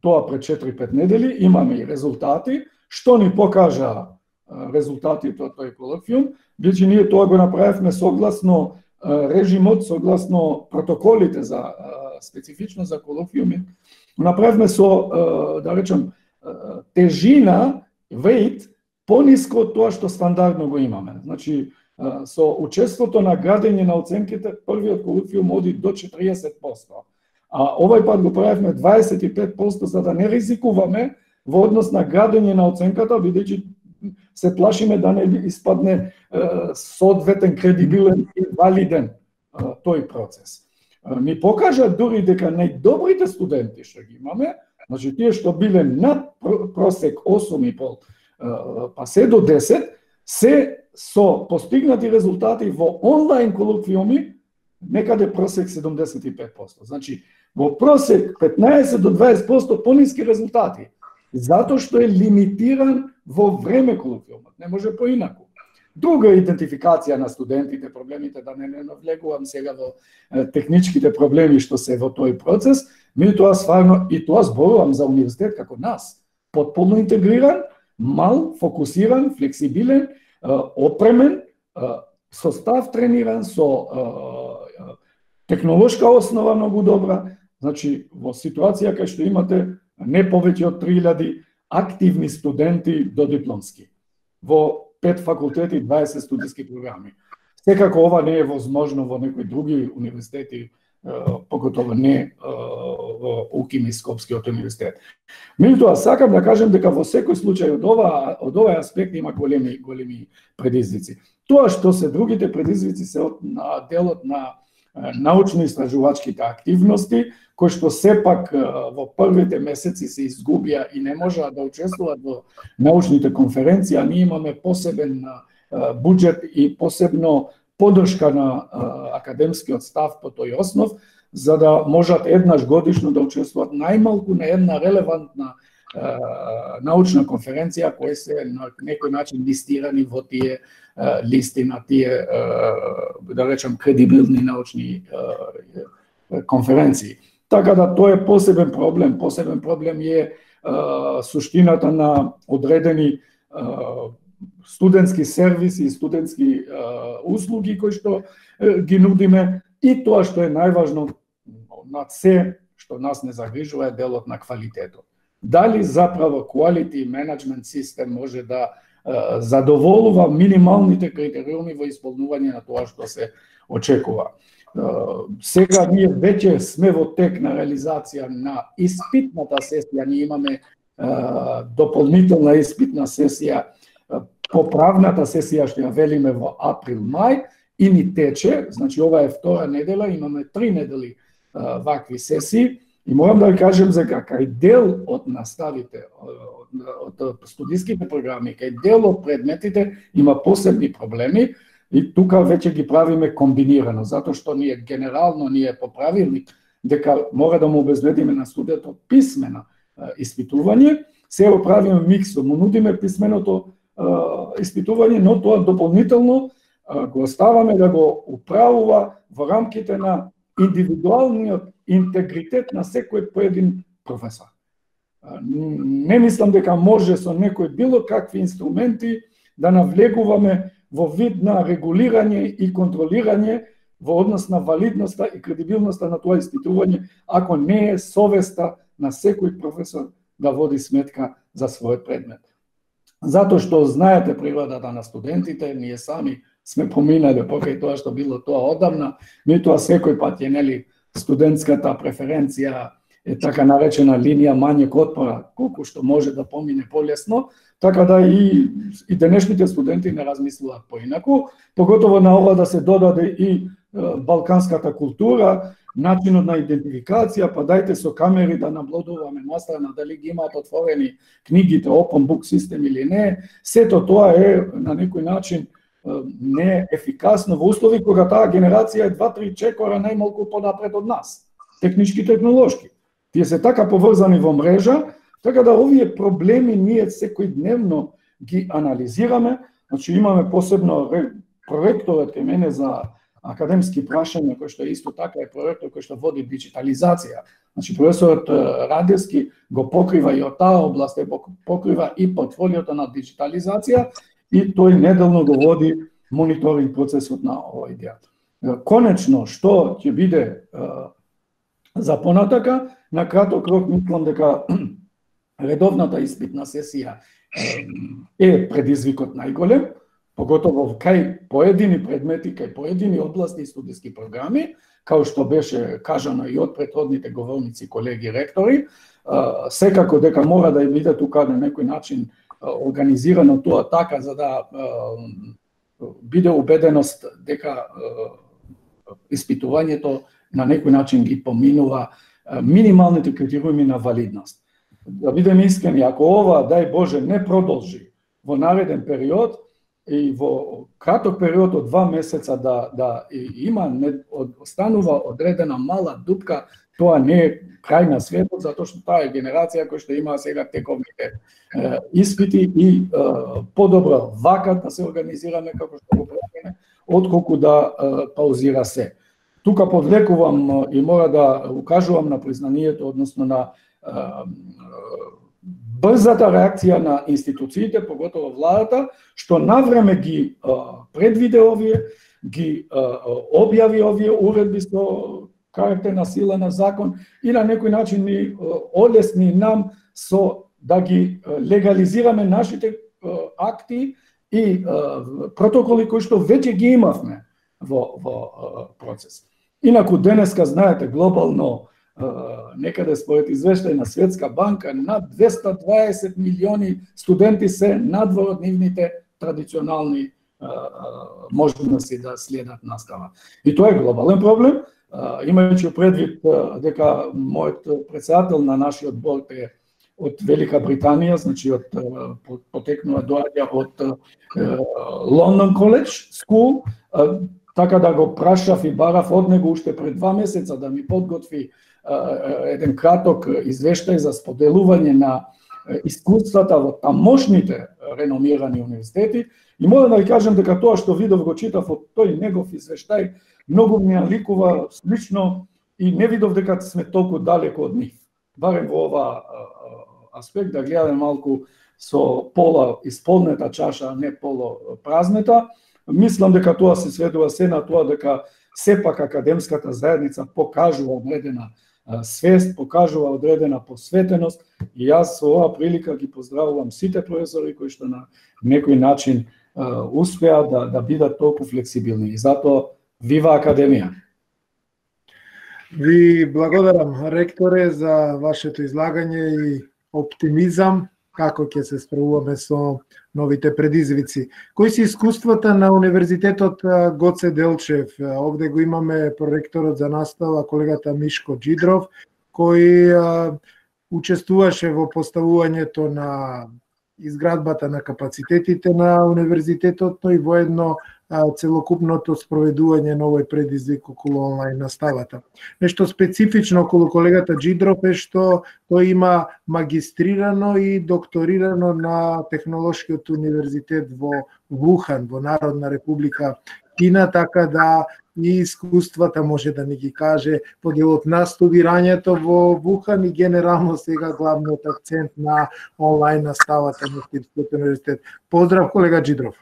тоа пред 4-5 недели, имаме и резултати. Што ни покажа резултатите од тој колоквиум? Бидејќи ние тоа го направивме согласно режимот, согласно протоколите за специфично за колоквиуми. Направивме со, да речем, тежина, weight пониско од тоа што стандардно го имаме. Значи, со учеството на градење на оценките, првиот колоквиум оди до 40%. А овај пат го правевме 25% за да не ризикуваме во однос на градење на оценката, бидејќи се плашиме да не испадне соодветен, кредибилен и валиден тој процес. Ни покажа дури дека најдобрите студенти што ги имаме, значи тие што биле над просек 8,5 па се до 10, се со постигнати резултати во онлайн колоквиуми некаде просек 75%. Значи во просек 15 до 20% пониски резултати, затоа што е лимитиран во време колоквиумот, не може поинаку. Друга идентификација на студентите, проблемите, да не навлегувам сега во техничките проблеми што се во тој процес, меѓутоа стварно и тоа зборувам за универзитет како нас, потполно интегриран, мал, фокусиран, флексибилен, опремен, со став трениран, со технолошка основа многу добра. Значи, во ситуација кај што имате не повеќе од 3000 активни студенти до дипломски. Во 5 факултети, 20 студиски програми. Секако ова не е возможно во некои други универзитети, поготово не во УКИМ и Скопскиот универзитет. Меѓутоа, сакам да кажем дека во секој случај од овој аспект има големи предизвици. Тоа што се другите предизвици се од делот на научно-истражувачките активности, кои што сепак во првите месеци се изгубија и не можеа да учествуваат во научните конференции, а ние имаме посебен буџет и посебно поддршка на академскиот став по тој основ, за да можат еднаш годишно да учествуваат најмалку на една релевантна научна конференција, кои се на некој начин листирани во тие листи на тие, да речем, кредибилни научни конференции. Така да тоа е посебен проблем. Посебен проблем е суштината на одредени студентски сервиси и студентски услуги кои што ги нудиме, и тоа што е најважно над се што нас не загрижува е делот на квалитетот. Дали заправо quality management систем може да задоволува минималните критериуми во исполнување на тоа што се очекува. Сега ние веќе сме во тек на реализација на испитната сесија, ние имаме дополнителна испитна сесија, поправната сесија што ја велиме во април-мај и ни тече, значи ова е втора недела, имаме 3 недели вакви сесии. И морам да ви кажем дека кај дел од наставите, од студиските програми, кај дел од предметите има посебни проблеми и тука веќе ги правиме комбинирано, затоа што ние генерално по правилник дека мора да му обезбедиме на студентот писмено испитување, се го правиме миксо, му нудиме писменото испитување, но тоа дополнително го оставаме да го управува во рамките на индивидуалниот интегритет на секој поедин професор. Не мислам дека може со некои било какви инструменти да навлегуваме во вид на регулирање и контролирање во однос на валидноста и кредибилноста на тоа испитување, ако не е совеста на секој професор да води сметка за својот предмет. Затоа што знаете природата на студентите, ние сами сме поминали покрај тоа што било тоа одамна, меѓутоа секој пат е студентската преференција е така наречена линија мањeg отпора, колку што може да помине полесно, така да и денешните студенти не размислуваат поинаку, поготово на ова да се додаде и балканската култура, начинот на идентификација, па дајте со камери да наблюдуваме настрана дали ги имаат отворени книгите, open book систем или не. Сето тоа е на некој начин не ефикасно во услови кога таа генерација е 2-3 чекора најмалку понапред од нас, технички и технолошки. Тие се така поврзани во мрежа, така да овие проблеми ние секојдневно ги анализираме. Значи имаме посебно проректорот кај мене за академски прашања, кој што исто така е проректор кој што води диджитализација. Значи професорот Радевски го покрива и од таа област, покрива и портфолиото на диджитализација, и тој неделно го води мониторинг процесот на овој дел. Конечно, што ќе биде за понатака, на краток рок мислам дека редовната испитна сесија е предизвикот најголем, поготово кај поедини предмети, кај поедини области и студиски програми, као што беше кажано и од претходните говорници, колеги ректори, секако дека мора да биде тука на некој начин организирано тоа така за да биде убеденост дека испитувањето на некој начин ги поминува минималните критериуми на валидност. Да бидеме искрени, ако ова, дај Боже, не продолжи во нареден период и во краток период од 2 месеца да има останува одредена мала дупка, тоа не е крај на светот, затоа што таа е генерација која што има сега тековните испити и подобро вака да се организираме како што го правиме, отколку да паузира се. Тука повлекувам и мора да укажувам на признанието, односно на брзата реакција на институциите, поготово владата, што навреме ги предвиде овие, ги објави овие уредби со карактер на сила на закон и на некој начин ни олесни нам со да ги легализираме нашите акти и протоколи кои што веќе ги имавме во процес. Инаку денеска, знаете, глобално, некаде според извештај на Светска банка, над 220 милиони студенти се надвор од нивните традиционални можности да следат настава. И тоа е глобален проблем, имајќи предвид дека мојот председател на нашиот борд е од Велика Британија, значи потекнува доаѓа од Лондон Коледж Скул, така да го прашав и барав од него уште пред 2 месеца да ми подготви еден краток извештај за споделување на искуствата во тамошните реномирани универзитети. И мора да ви кажам дека тоа што видов го читав од тој негов извештај многу ми ликува слично и не видов дека сме толку далеко од нив. Барем во ова аспект да гледаме малку со пола исполнета чаша, а не поло празнета. Мислам дека тоа се сведува се на тоа дека сепак академската заедница покажува одредена свест, покажува одредена посветеност и јас со оваа прилика ги поздравувам сите професори кои што на некој начин успеа да бидат толку флексибилни. И затоа вива Академија! Ви благодарам, ректоре, за вашето излагање и оптимизам како ќе се справуваме со новите предизвици. Кои се искуствата на Универзитетот Гоце Делчев? Овде го имаме проректорот за настава, колегата Мишко Джидров, кој учествуваше во поставувањето на изградбата на капацитетите на универзитетот, но и воедно целокупното спроведување на овој предизвик околу онлайн наставата. Нешто специфично околу колегата Джидров е што тој има магистрирано и докторирано на Технолошкиот универзитет во Вухан, во Народна република Кина, така да и искуствата може да ни ги каже по делот на студирањето во Вухан и генерално сега главниот акцент на онлайн наставата на Кирскиот универзитет. Поздрав, колега Джидров.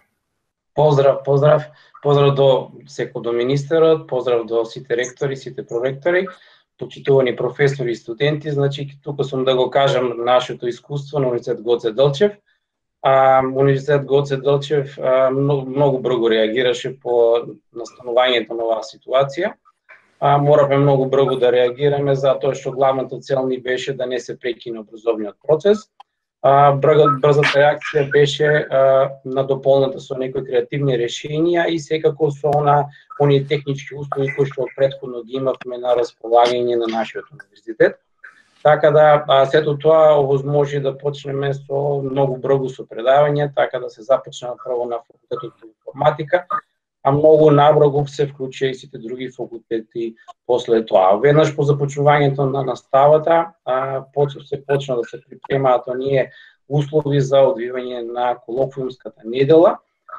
Поздрав до секој до министерот, поздрав до сите ректори, сите проректори, почитувани професори и студенти. Значи, тука сум да го кажам нашето искуство на Универзитет Гоце Делчев. Универзитет Гоце Делчев многу брзо реагираше по настанувањето на оваа ситуација. Моравме многу брзо да реагираме затоа што главната цел ни беше да не се прекине образовниот процес. Брзата реакција беше надополната со некои креативни решенија и секако со оние технички услови кои што претходно ги имавме на располагање на нашиот универзитет. Така да сето тоа овозможи да почнеме со многу брзо со предавање, така да се започна прво на факултетот по информатика, а многу набрзо се вклучија и сите други факултети после тоа. Веднаш по започнувањето на наставата се почна да се припремаат оние услови за одвивање на колоквиумската недела,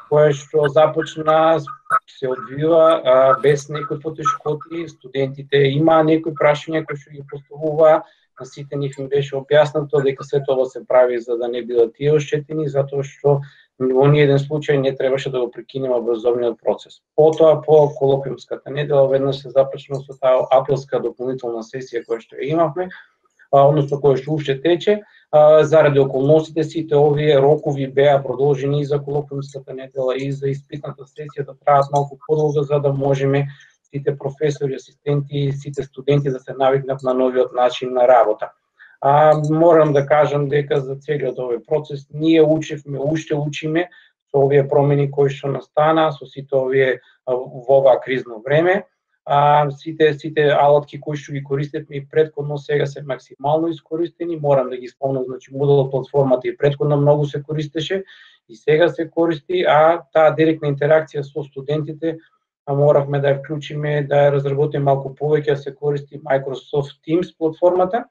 која што започна се одвива без некои потешкоти. Студентите има некои прашања кои што ги поставува, на сите нив им беше објаснато дека се тоа се прави за да не бидат тие оштетени, затоа што во ниеден случај не требаше да го прекинеме образовниот процес. Потоа по колоквиумската недела веднаш се започна со таа априлска дополнителна сесија која што ја имавме, односно која што уште тече, заради околностите сите овие рокови беа продолжени и за колоквиумската недела и за испитната сесија да траат малку подолго за да можеме сите професори, асистенти и сите студенти да се навикнат на новиот начин на работа. Морам да кажам дека за целиот овој процес ние учевме, уште учиме со овие промени кои што настана, со сите овие во ова кризно време. Сите алатки кои што ги користевме и претходно сега се максимално искористени. Морам да ги спомнам, значи Moodle платформата и претходно многу се користеше и сега се користи, а таа директна интеракција со студентите моравме да ја вклучиме, да ја разработиме малку повеќе, се користи Microsoft Teams платформата,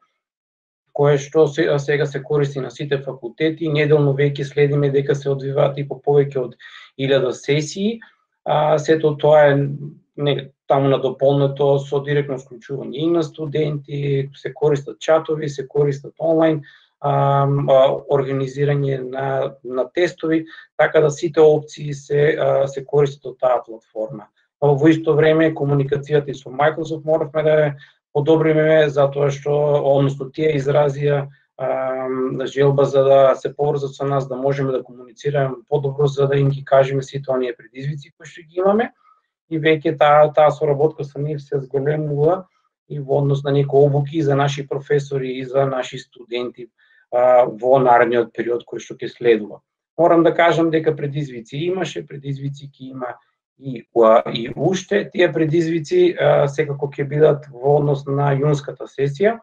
кое што сега се користи на сите факултети. Неделно веќе следиме дека се одвиваат и по повеќе од 1000 сесии. Сето тоа е таму надополнето со директно вклучување и на студенти, се користат чатови, се користат онлайн, организирање на тестови, така да сите опции се користат од таа платформа. Во исто време комуникацијата и со Microsoft моравме да ја подобриме, затоа што односно тие изразија желба за да се поврзат со нас, да можеме да комуницираме подобро, за да им ги кажеме сите оние предизвици кои што ги имаме. И веќе таа соработка со нив се зголемува и во однос на некои обуки за наши професори и за наши студенти во наредниот период кој што ќе следува. Морам да кажам дека предизвици имаше, предизвици ќе има и уште. Тие предизвици секако ќе бидат во однос на јунската сесија.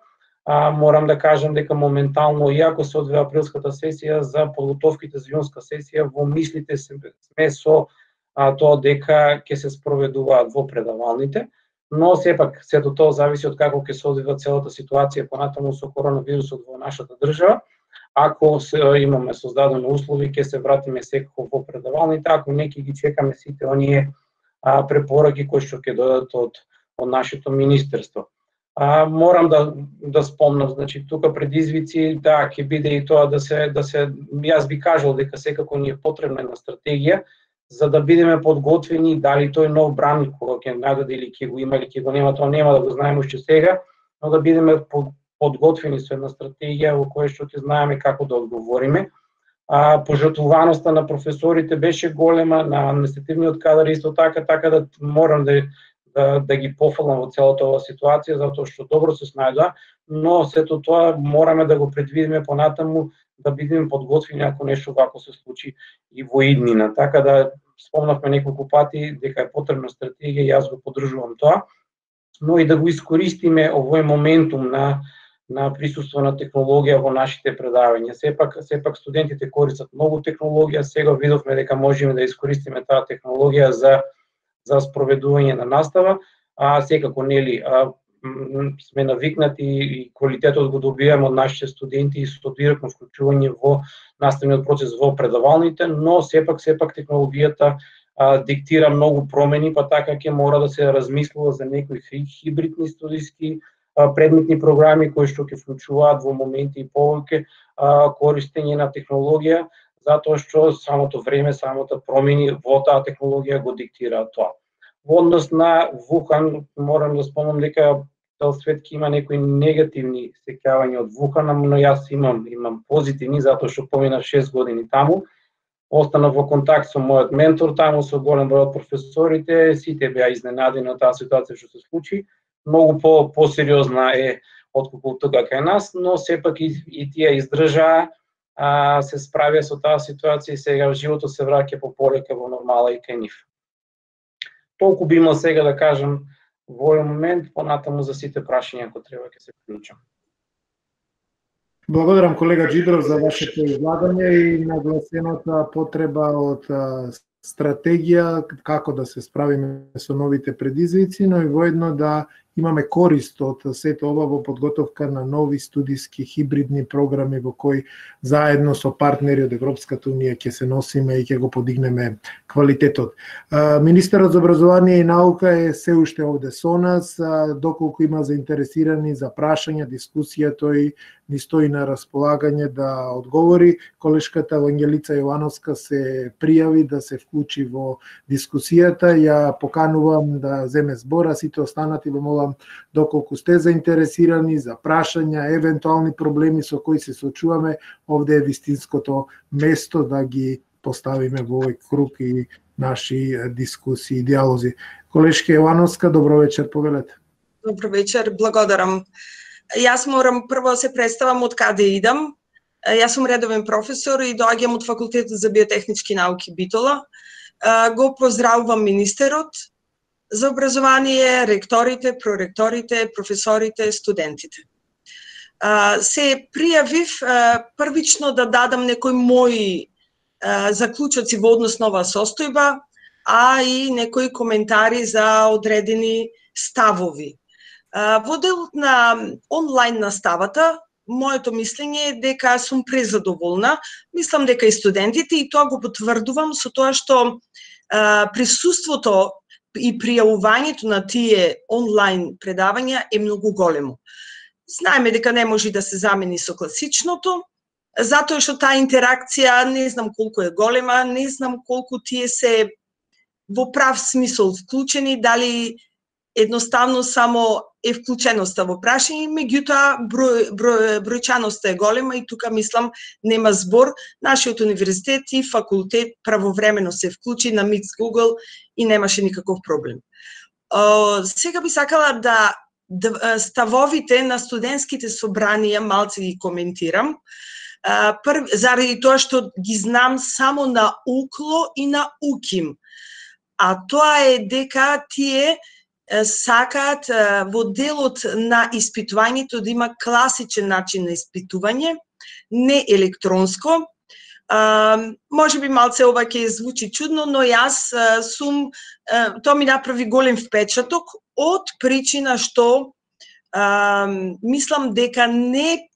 Морам да кажам дека моментално, иако се одвива априлската сесија, за подготовките за јунска сесија во мислите сме со тоа дека ќе се спроведуваат во предавалните, но сепак сето тоа зависи од како ќе се одвива целата ситуација понатаму со коронавирусот во нашата држава. Ако имаме создадени услови, ќе се вратиме секако во предавалните, ако не ќе ги чекаме сите оние препораки кои што ќе дојдат од нашето министерство. Морам да спомнам, значи тука предизвици, да, ќе биде и тоа да се јас би кажал дека секако ни е потребна една стратегија за да бидеме подготвени, дали тој нов бран кога ќе најде или ќе го има или ќе го нема, тоа нема да го знаеме уште сега, но да бидеме подготвени со една стратегија во која што ќе знаеме како да одговориме. Пожртвуваноста на професорите беше голема, на административниот кадар исто така да морам да ги пофалам во целата оваа ситуација, затоа што добро се снајдоа, но сето тоа мораме да го предвидиме понатаму, да бидеме подготвени ако нешто вако се случи и во иднина. Така да спомнавме неколку пати дека е потребна стратегија, јас го поддржувам тоа, но и да го искористиме овој моментум на присуство на технологија во нашите предавања. Сепак студентите користат многу технологија, сега видовме дека можеме да искористиме таа технологија за спроведување на настава, секако нели сме навикнати и квалитетот го добиваме од нашите студенти и со директно вклучување во наставниот процес во предавалните, но сепак технологијата диктира многу промени, па така ќе мора да се размислува за некои хибридни студиски предметни програми кои што ќе вклучуваат во моменти и повеќе користење на технологија, затоа што самото време, самото промени во таа технологија го диктира тоа. Во однос на Вухан, морам да спомнам дека цел свет ќе има некои негативни сеќавања од Вухан, но јас имам позитивни, затоа што поминав 6 години таму. Останав во контакт со мојот ментор таму, со голем број од професорите, сите беа изненадени од таа ситуација што се случи. Многу посериозна е отколку тука кај нас, но сепак и тие издржаа, се справија со таа ситуација и сега животот се враќа пополека во нормала и кај нив. Толку би имал сега да кажам во овој момент, понатаму за сите прашања ако треба ќе се вклучам. Благодарам колега Джидров за вашето излагање и нагласената потреба од стратегија како да се справиме со новите предизвици, но и воедно да имаме корист од сето ова во подготовка на нови студиски хибридни програми во кои заедно со партнери од Европската унија ќе се носиме и ќе го подигнеме квалитетот. Министерот за образование и наука е се уште овде со нас, доколку има заинтересирани за прашања, дискусија, тој ни стои на располагање да одговори. Колешката Евангелица Јовановска се пријави да се вклучи во дискусијата. Ја поканувам да земе збора, сите останати ве молам, доколку сте заинтересирани за прашања, евентуални проблеми со кои се соочуваме, овде е вистинското место да ги поставиме во овој круг и наши дискусии и диалози. Колешка Јовановска, добро вечер, повелете. Добро вечер, благодарам. Јас морам прво се представам од каде идам. Јас сум редовен професор и доаѓам од Факултетот за биотехнички науки Битола. Го поздравувам министерот за образование, ректорите, проректорите, професорите, студентите. Се пријавив првично да дадам некои мои заклучоци во однос на оваа состојба, а и некои коментари за одредени ставови. Во делот на онлайн наставата, моето мислење е дека сум презадоволна. Мислам дека и студентите, и тоа го потврдувам со тоа што присуството и пријавувањето на тие онлайн предавања е многу големо. Знаеме дека не може да се замени со класичното, затоа што таа интеракција не знам колку е голема, не знам колку тие се во прав смисол вклучени, дали едноставно само е вклученоста во прашање, меѓутоа бројчаноста е голема и тука мислам нема збор. Нашиот универзитет и факултет правовремено се вклучи на Meet Google и немаше никаков проблем. Сега би сакала да ставовите на студентските собранија малце ги коментирам. Заради тоа што ги знам само на УКЛО и на УКИМ. А тоа е дека тие сакаат во делот на испитувањето да има класичен начин на испитување, не електронско. Може би малце ова ќе звучи чудно, но јас тоа ми направи голем впечаток од причина што мислам дека не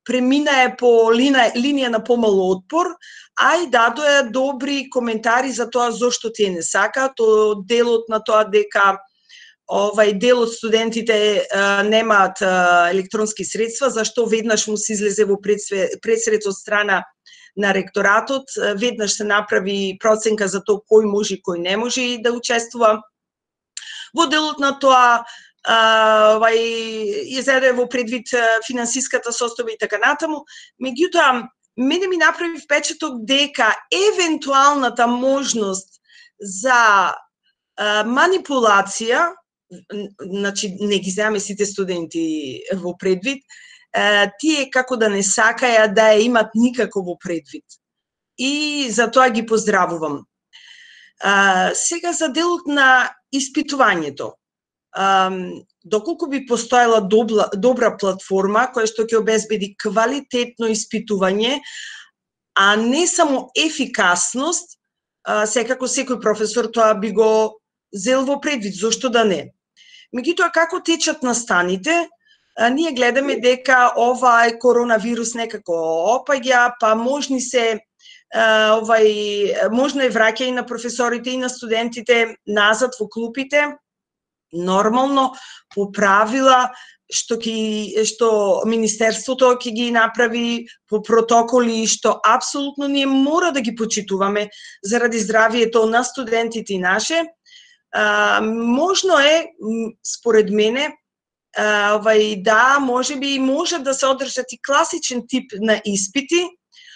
преминае по линија на помало отпор, а и дадоа добри коментари за тоа зошто тие не сакаат, од делот на тоа дека дел од студентите немаат електронски средства, зашто веднаш му се излезе во пресред од страна на ректоратот, веднаш се направи проценка за тоа кој може и кој не може да учествува. Во делот на тоа ја зеде во предвид финансиската состојба и така натаму. Меѓутоа, мене ми направи впечаток дека евентуалната можност за манипулација, значи не ги земаме сите студенти во предвид, тие како да не сакаја да ја имат никако во предвид. И за тоа ги поздравувам. Сега за делот на испитувањето. Доколку би постоела добра платформа која што ќе обезбеди квалитетно испитување, а не само ефикасност, секако секој професор тоа би го зел во предвид, зошто да не. Меѓутоа, како течат настаните, ние гледаме дека ова коронавирус некако опаѓа, па можно е враќање на професорите и на студентите назад во клупите, нормално, по правила што Министерството ќе ги направи, по протоколи што апсолутно ние мора да ги почитуваме заради здравието на студентите и наше. Можно е, според мене, да, можеби може да се одржат и класичен тип на испити,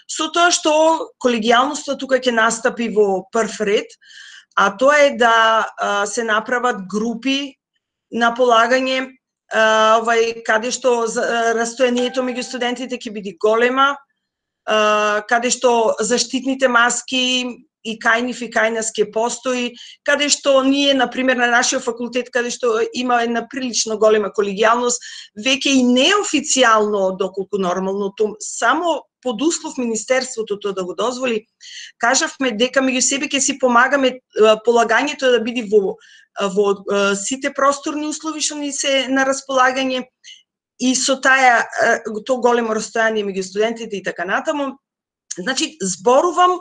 со тоа што колегијалноста тука ќе настапи во прв ред, а тоа е да се направат групи на полагање, каде што растојанието меѓу студентите ќе биде голема, каде што заштитните маски и кај нив и кај нас ќе постои, каде што ние, например, на нашиот факултет, каде што има една прилично голема колегијалност, веќе и неофицијално, доколку нормално, само под услов Министерството тоа да го дозволи, кажавме дека меѓу себе ќе си помагаме полагањето да биде во сите просторни услови што ни се на располагање и со тоа големо растојание меѓу студентите и така натаму. Значи, зборувам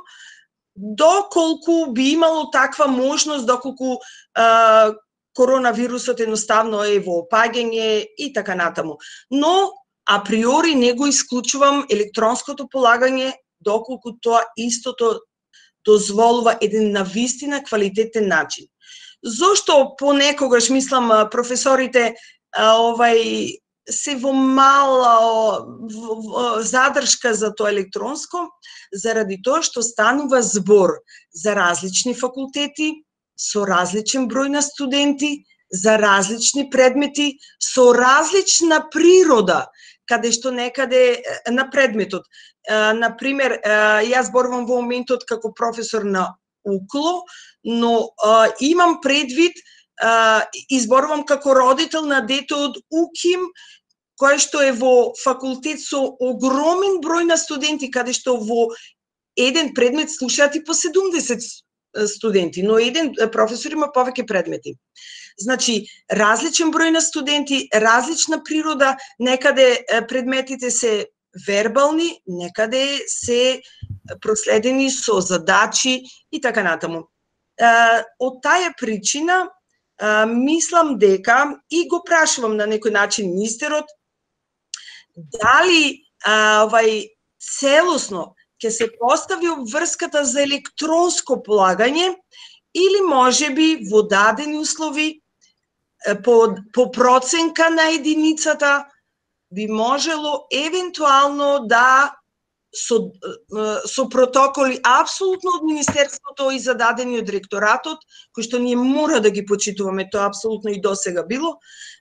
доколку би имало таква можност, доколку коронавирусот едноставно е во опаѓање и така натаму. Но априори не го исклучувам електронското полагање, доколку тоа истото дозволува еден навистина квалитетен начин. Зошто понекогаш мислам професорите се во мала задршка за тоа електронско, заради тоа што станува збор за различни факултети, со различен број на студенти, за различни предмети, со различна природа, каде што некаде на предметот. Например, јас зборувам во моментот како професор на УКЛО, но имам предвид, изборувам како родител на дете од УКИМ, кој што е во факултет со огромен број на студенти, каде што во еден предмет слушаат и по 70 студенти, но еден професор има повеќе предмети. Значи, различен број на студенти, различна природа, некаде предметите се вербални, некаде се проследени со задачи и така натаму. Од таа причина, мислам дека, и го прашувам на некој начин министерот, дали целосно ќе се постави обврската за електронско полагање или можеби во дадени услови по проценка на единицата би можело евентуално да со протоколи апсолутно од Министерството и зададени од ректоратот, кои што ние мора да ги почитуваме, тоа апсолутно и досега било,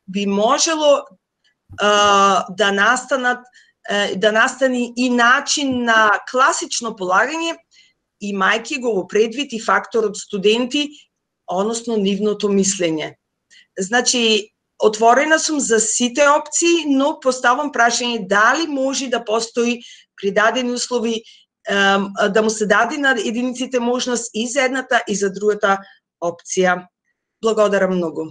би можело да настани и начин на класично полагање, имајќи го во предвид и факторот студенти, односно нивното мислење. Значи, отворена сум за сите опции, но поставам прашање дали може да постои при дадени услови да му се даде на единиците можност и за едната и за другата опција. Благодарам многу.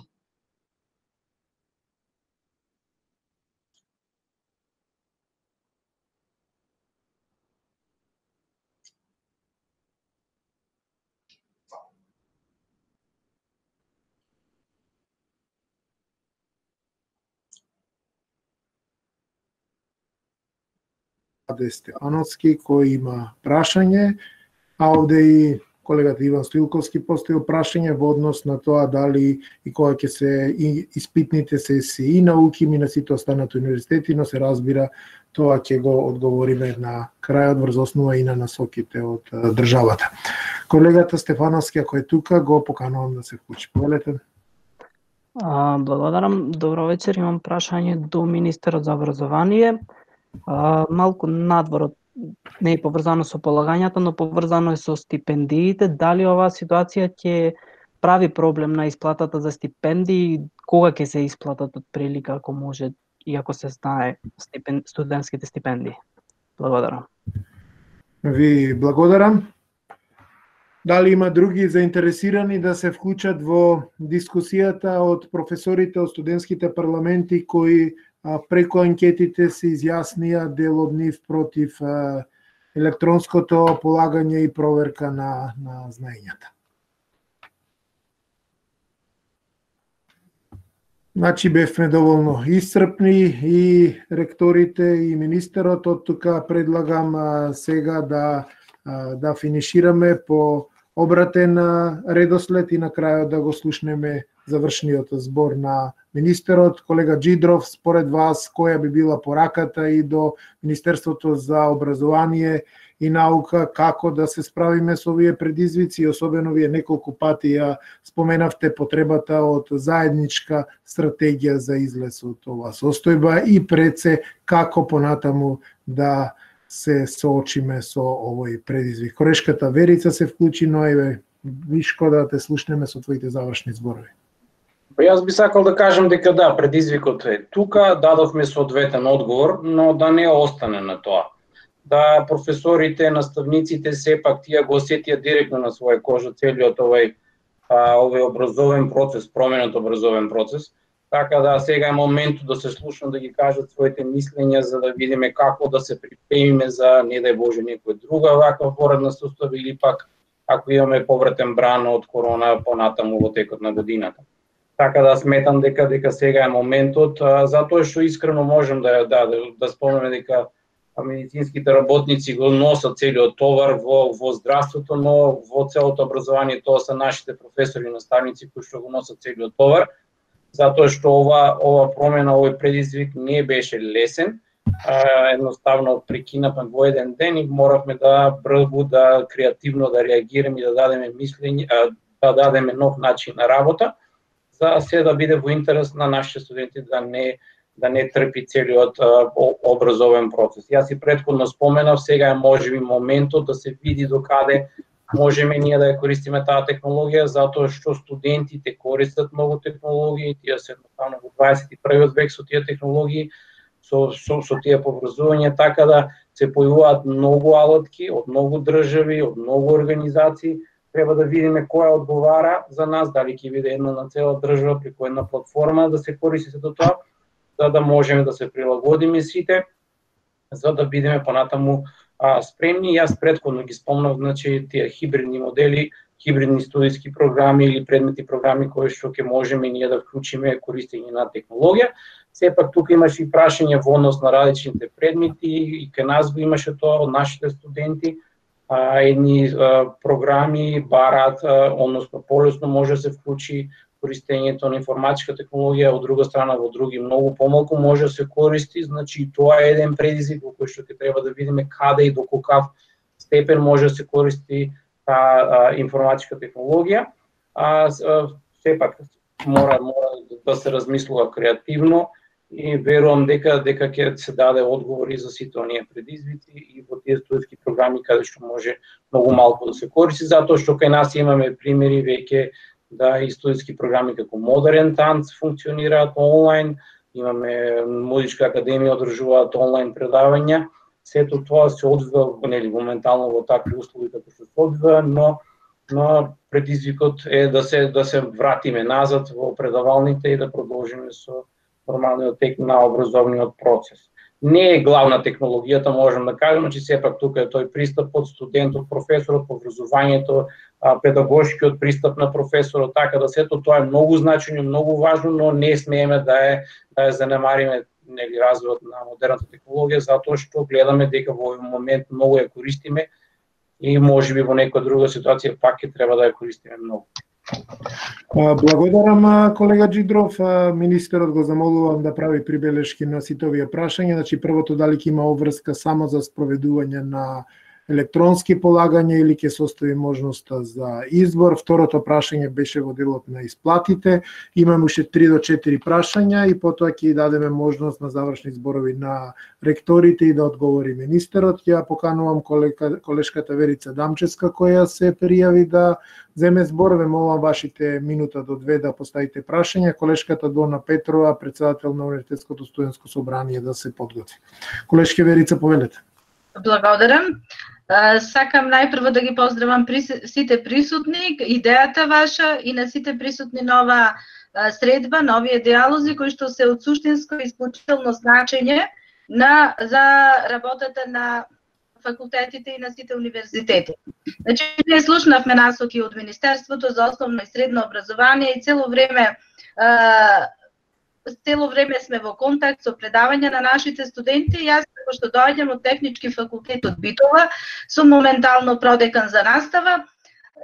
Стефановски кој има прашање, а овде и колегата Иван Стоилковски поставил прашање во однос на тоа дали и кога ќе се испитните се и на УКИМ и на сите останати универзитети, но се разбира тоа ќе го одговориме на крајот врз основа и на насоките од државата. Колегата Стефановски, ако е тука, го поканувам да се вклучи. Повелете. Благодарам. Добро вечер. Имам прашање до министерот за образование. Малку надвор, не е поврзано со полагањата, но поврзано е со стипендиите. Дали оваа ситуација ќе прави проблем на исплатата за стипендии, кога ќе се исплатат од прилика, ако може и ако се знае студентските стипендии? Благодарам. Ви благодарам. Дали има други заинтересирани да се вклучат во дискусијата од професорите од студентските парламенти кои преку анкетите се изјаснија дел од нив против електронското полагање и проверка на знаењата? Значи бевме доволно исцрпни и ректорите и министерот, од тука предлагам сега да финишираме по обратен редослед и на крајот да го слушнеме завршниот збор на министерот. Колега Джидров, според вас, која би била пораката и до Министерството за образование и наука, како да се справиме со овие предизвици, особено вие неколку пати ја споменавте потребата од заедничка стратегија за излез од ова состојба и пред се како понатаму да се соочиме со овој предизвик. Корешката Верица се вклучи, но еве Вишко да те слушнеме со твоите завршни зборови. Јас би сакал да кажам дека да, предизвикот е тука, дадовме соодветен одговор, но да не остане на тоа. Да професорите, наставниците сепак тие го осетија директно на своја кожа целиот овој образовен процес, променет образовен процес. Така да сега е моментот да се слушнат да ги кажат своите мислења за да видиме како да се припремиме за не дај Боже некоја друга ваква поредна состојба или пак ако имаме повратен бран од корона понатаму во текот на годината. Така да сметам дека сега е моментот, затоа што искрено можем да спомнеме дека медицинските работници го носат целиот товар во здравството, но во целото образование тоа се нашите професори и наставници кои што го носат целиот товар, затоа што ова промена, овој предизвик не беше лесен. Едноставно прекинавме во еден ден и моравме да брзо, да креативно да реагираме и да дадеме мислење, да дадеме нов начин на работа, за се да биде во интерес на нашите студенти да не трпи целиот образовен процес. Јас и претходно споменав, сега е можеби моментот да се види докаде можеме ние да ја користиме таа технологија, затоа што студентите користат многу технологии, тие се едноставно во 21 век со тие технологии, со тие поврзувања, така да се појавуваат многу алатки од многу држави, од многу организации. Треба да видиме која одговара за нас, дали ќе биде една на цела држава преку една платформа да се користи до тоа, за да можеме да се прилагодиме сите, за да бидеме понатаму спремни. Јас претходно ги спомнав, значи тие хибридни модели, хибридни студиски програми или предметни програми кои што ќе можеме ние да вклучиме користење на технологија. Сепак тука имаше и прашање во однос на различните предмети и кај нас го имаше тоа од нашите студенти. Едни програми бараат, односно полесно може да се вклучи користењето на информатичка технологија, од друга страна во други многу помалку може да се користи, значи тоа е еден предизвик во кој што ќе треба да видиме каде и до каков степен може да се користи таа информатичка технологија. Сепак мора да се размислува креативно и верувам дека ќе се даде одговори за сите оние предизвици и во тие студентски програми каде што може многу малку да се користи, затоа што кај нас имаме примери веќе да и студентски програми како Модерен танц функционираат онлайн, имаме Музичка академија одржуваат онлайн предавања. Сето тоа се одвива моментално во такви услови како што се одвива, но предизвикот е да се вратиме назад во предавалните и да продолжиме со нормалниот тек на образовниот процес. Не е главна технологијата, можем да кажеме, че сепак тука е тој пристап од студентот, професорот, образованието, педагошкиот пристап на професорот, така да сето тоа е многу значајно, многу важно, но не смееме да ја занемариме развојот на модерната технологија, затоа што гледаме дека во овој момент многу ја користиме и можеби во некоја друга ситуација пак ќе треба да ја користиме многу. Благодарам, колега Джидров. Министерот го замолувам да прави прибелешки на сите овие прашања. Значи, првото, дали ќе има обврска само за спроведување на електронски полагања или ќе се остави можноста за избор. Второто прашање беше во делот на исплатите. Имаме уште 3 до 4 прашања и потоа ќе дадеме можност на завршни зборови на ректорите и да одговори министерот. Ја поканувам колешката Верица Дамчевска која се пријави да земе збор. Ве молам вашите минута до 2 да поставите прашања. Колешката Дона Петрова, председател на Универзитетското студентско собрание, да се подготви. Колешке Верица, повелете. Благодарам. Сакам најпрво да ги поздравам сите присутни, идејата ваша и на сите присутни на ова средба, на овие диалози кои што се од суштинско и исклучително значење за работата на факултетите и на сите универзитети. Значи, ние слушнавме насоки од Министерството за основно и средно образование и цело време сме во контакт со предавања на нашите студенти. Јас, како што доаѓам од Технички факултет од Битола, сум моментално продекан за настава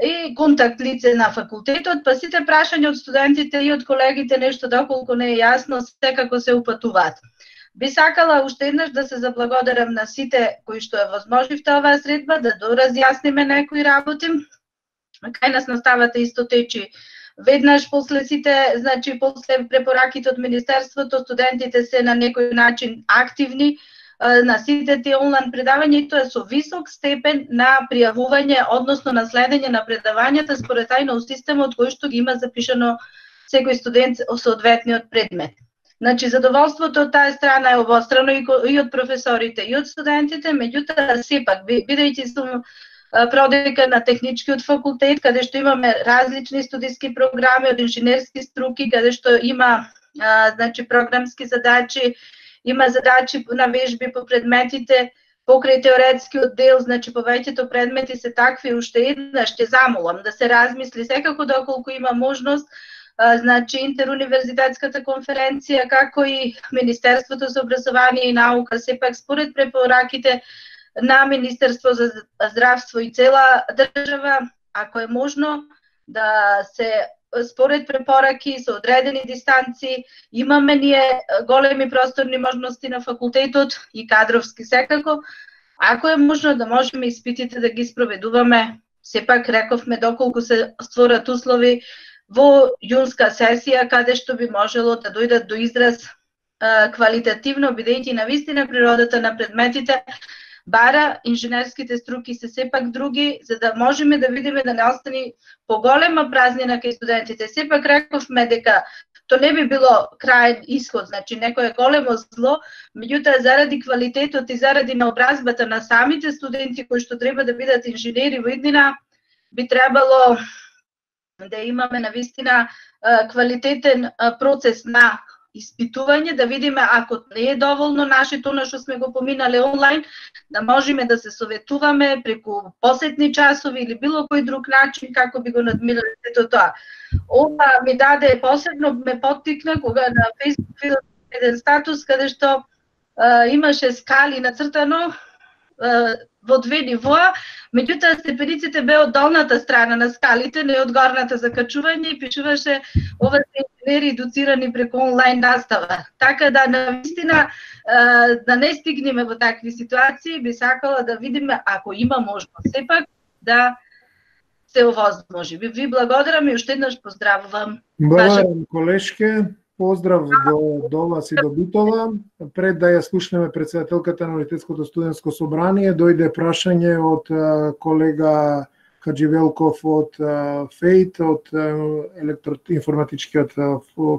и контакт лице на факултетот, па сите прашања од студентите и од колегите нешто доколку не е јасно, секако се упатуваат. Би сакала уште еднаш да се заблагодарам на сите кои што ја возможивте оваа средба, да доразјасниме некои работи. Кај нас наставата исто течи веднаш после сите, значи после препораките од Министерството, студентите се на некој начин активни на сите тие онлайн предавања и тоа со висок степен на пријавување, односно на следење на предавањата според тајно системот кој што ги има запишано секој студент соодветниот предмет. Значи, задоволството од таа страна е обострано и од професорите и од студентите, меѓутоа сепак, бидејќи сум продека на Техничкиот факултет, каде што имаме различни студиски програми од инженерски струки, каде што има значи програмски задачи, има задачи на вежби по предметите, покрај теоретскиот дел, значи повеќето предмети се такви, уште еднаш ќе замолам да се размисли секако доколку има можност значи интеруниверзитетската конференција, како и Министерството за образование и наука, сепак според препораките на Министерство за здравство и цела држава, ако е можно да се според препораки со одредени дистанци, имаме ние големи просторни можности на факултетот и кадровски секако, ако е можно да можеме испитите да ги спроведуваме, сепак рековме доколку се створат услови во јунска сесија, каде што би можело да дојдат до израз квалитативно, бидејќи навистина природата на предметите бара инженерските струки се сепак други, за да можеме да видиме да не остани поголема празнина кај студентите. Сепак рековме дека то не би било краен исход, значи некое големо зло, меѓутоа заради квалитетот и заради наобразбата на самите студенти кои што треба да бидат инженери во иднина, би требало да имаме навистина квалитетен процес на испитување, да видиме ако не е доволно нашето на што сме го поминале онлайн, да можеме да се советуваме преку посетни часови или било кој друг начин како би го надмирале сето тоа. Ова ми даде посебно ме поттикна кога на Facebook видов еден статус каде што имаше скали нацртано во две нивоа, меѓутоа степениците беа од долната страна на скалите, не од горната за качување и пишуваше ова се инженери едуцирани преку онлайн настава. Така да навистина да не стигнеме во такви ситуации, би сакала да видиме ако има можност сепак да се овозможи. Ви благодарам и уште еднаш поздравувам. Благодарам колешке. Поздрав до вас и до Битола. Пред да ја слушнеме председателката на Универзитетското студентско собрание, дојде прашање од колега Хадживелков од ФЕЙТ, од информатичкиот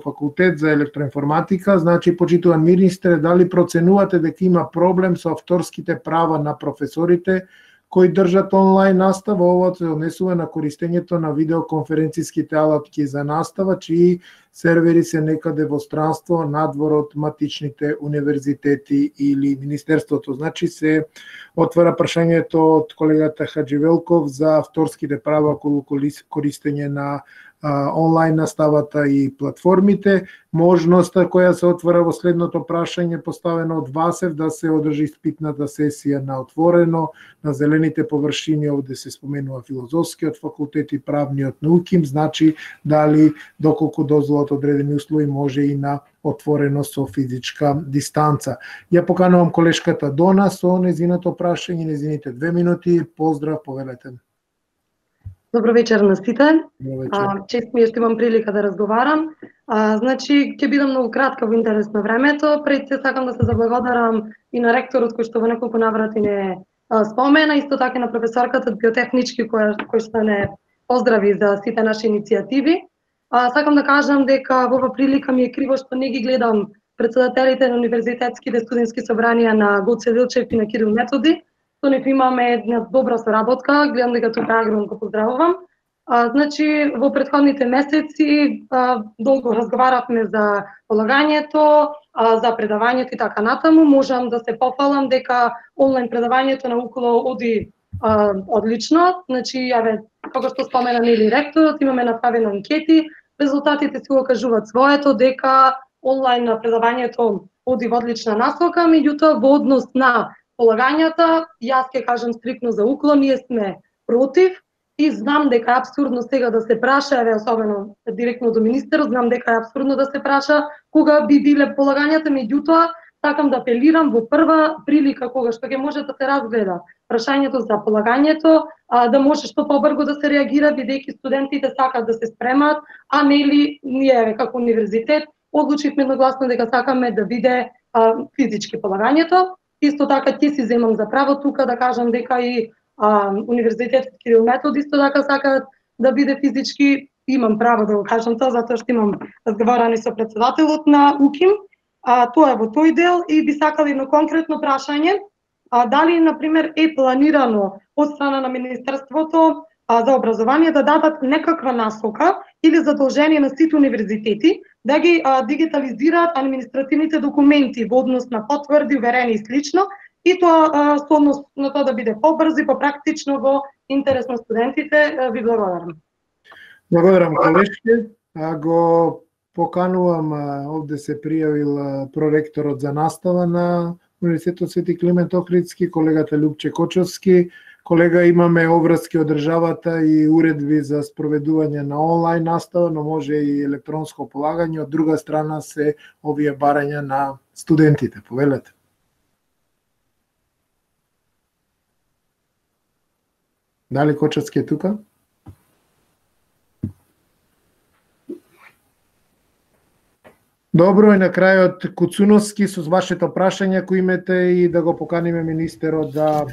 факултет за електроинформатика. Значи, почитуван министре, дали проценувате дека има проблем со авторските права на професорите кои држат онлайн настава? Ова се однесува на користењето на видеоконференцијските алатки за настава, чии сервери се некаде во странство надвор од матичните универзитети или Министерството. Значи се отвара прашањето од колегата Хадживелков за авторските права околу користење на онлайн наставата и платформите. Можноста која се отвора во следното прашање поставено од Васев да се одржи испитната сесија на отворено, на зелените површини, овде се споменува филозофскиот факултет и правниот науки, значи дали доколку дозволат одредени услови може и на отворено со физичка дистанца. Ја поканувам колешката Дона со незиното прашање, незините 2 минути. Поздрав, повелете. Добро вечер на сите. Чест ми е што имам прилика да разговарам. Значи, ќе бидам многу кратка во интерес на времето. Пред се сакам да се заблагодарам и на ректорот кој што во неколку наврати не спомена, исто така на професорката биотехнички кој што не поздрави за сите наши иницијативи. Сакам да кажам дека во ова прилика ми е криво што не ги гледам председателите на универзитетските студентски собранија на Гоце Делчев и на Кирил Методи. Со нив имаме една добра соработка, гледам дека тука агрон го поздравувам. Значи, во претходните месеци долго разговаравме за полагањето, за предавањето и така натаму. Можам да се пофалам дека онлайн предавањето на УКЛО оди одлично. Значи, како што спомена Нели ректорот, имаме направено анкети, резултатите си го кажуваат своето, дека онлайн предавањето оди во одлична насока, меѓутоа во однос на полагањата, јас ќе кажам стрикно за УКЛО, ние сме против и знам дека е апсурдно сега да се праша, особено директно до министерот, знам дека е апсурдно да се праша кога би биле полагањата, меѓутоа сакам да апелирам во прва прилика кога што ќе може да се разгледа прашањето за полагањето, да може што побрзо да се реагира, бидејќи студентите сакаат да се спремат, а нели ние како универзитет одлучивме едногласно дека сакаме да биде физички полагањето. Исто така ќе си земам за право тука да кажам дека и Универзитетот Кирил Методи исто така сакаат да биде физички. Имам право да го кажам тоа затоа што имам разговарани со председателот на УКИМ. Тоа е во тој дел и би сакали едно конкретно прашање. Дали, например, е планирано од страна на Министерството за образование да дадат некаква насока или задолжение на сите универзитети да ги дигитализираат административните документи во однос на потврди, уверени и слично, и тоа со однос на тоа да биде побрзо и попрактично во интерес на студентите. Ви благодарам. Благодарам, колешке. го поканувам, овде се пријавил проректорот за настава на Универзитетот Свети Климент Охридски, колегата Љупче Кочовски. Колега, имаме обврски од државата и уредби за спроведување на онлайн настава, но може и електронско полагање. Од друга страна се овие барања на студентите. Повелете. Дали Кочовски е тука? Добро, и на крајот Куцуновски со вашето прашање кој имате и да го поканиме министерот да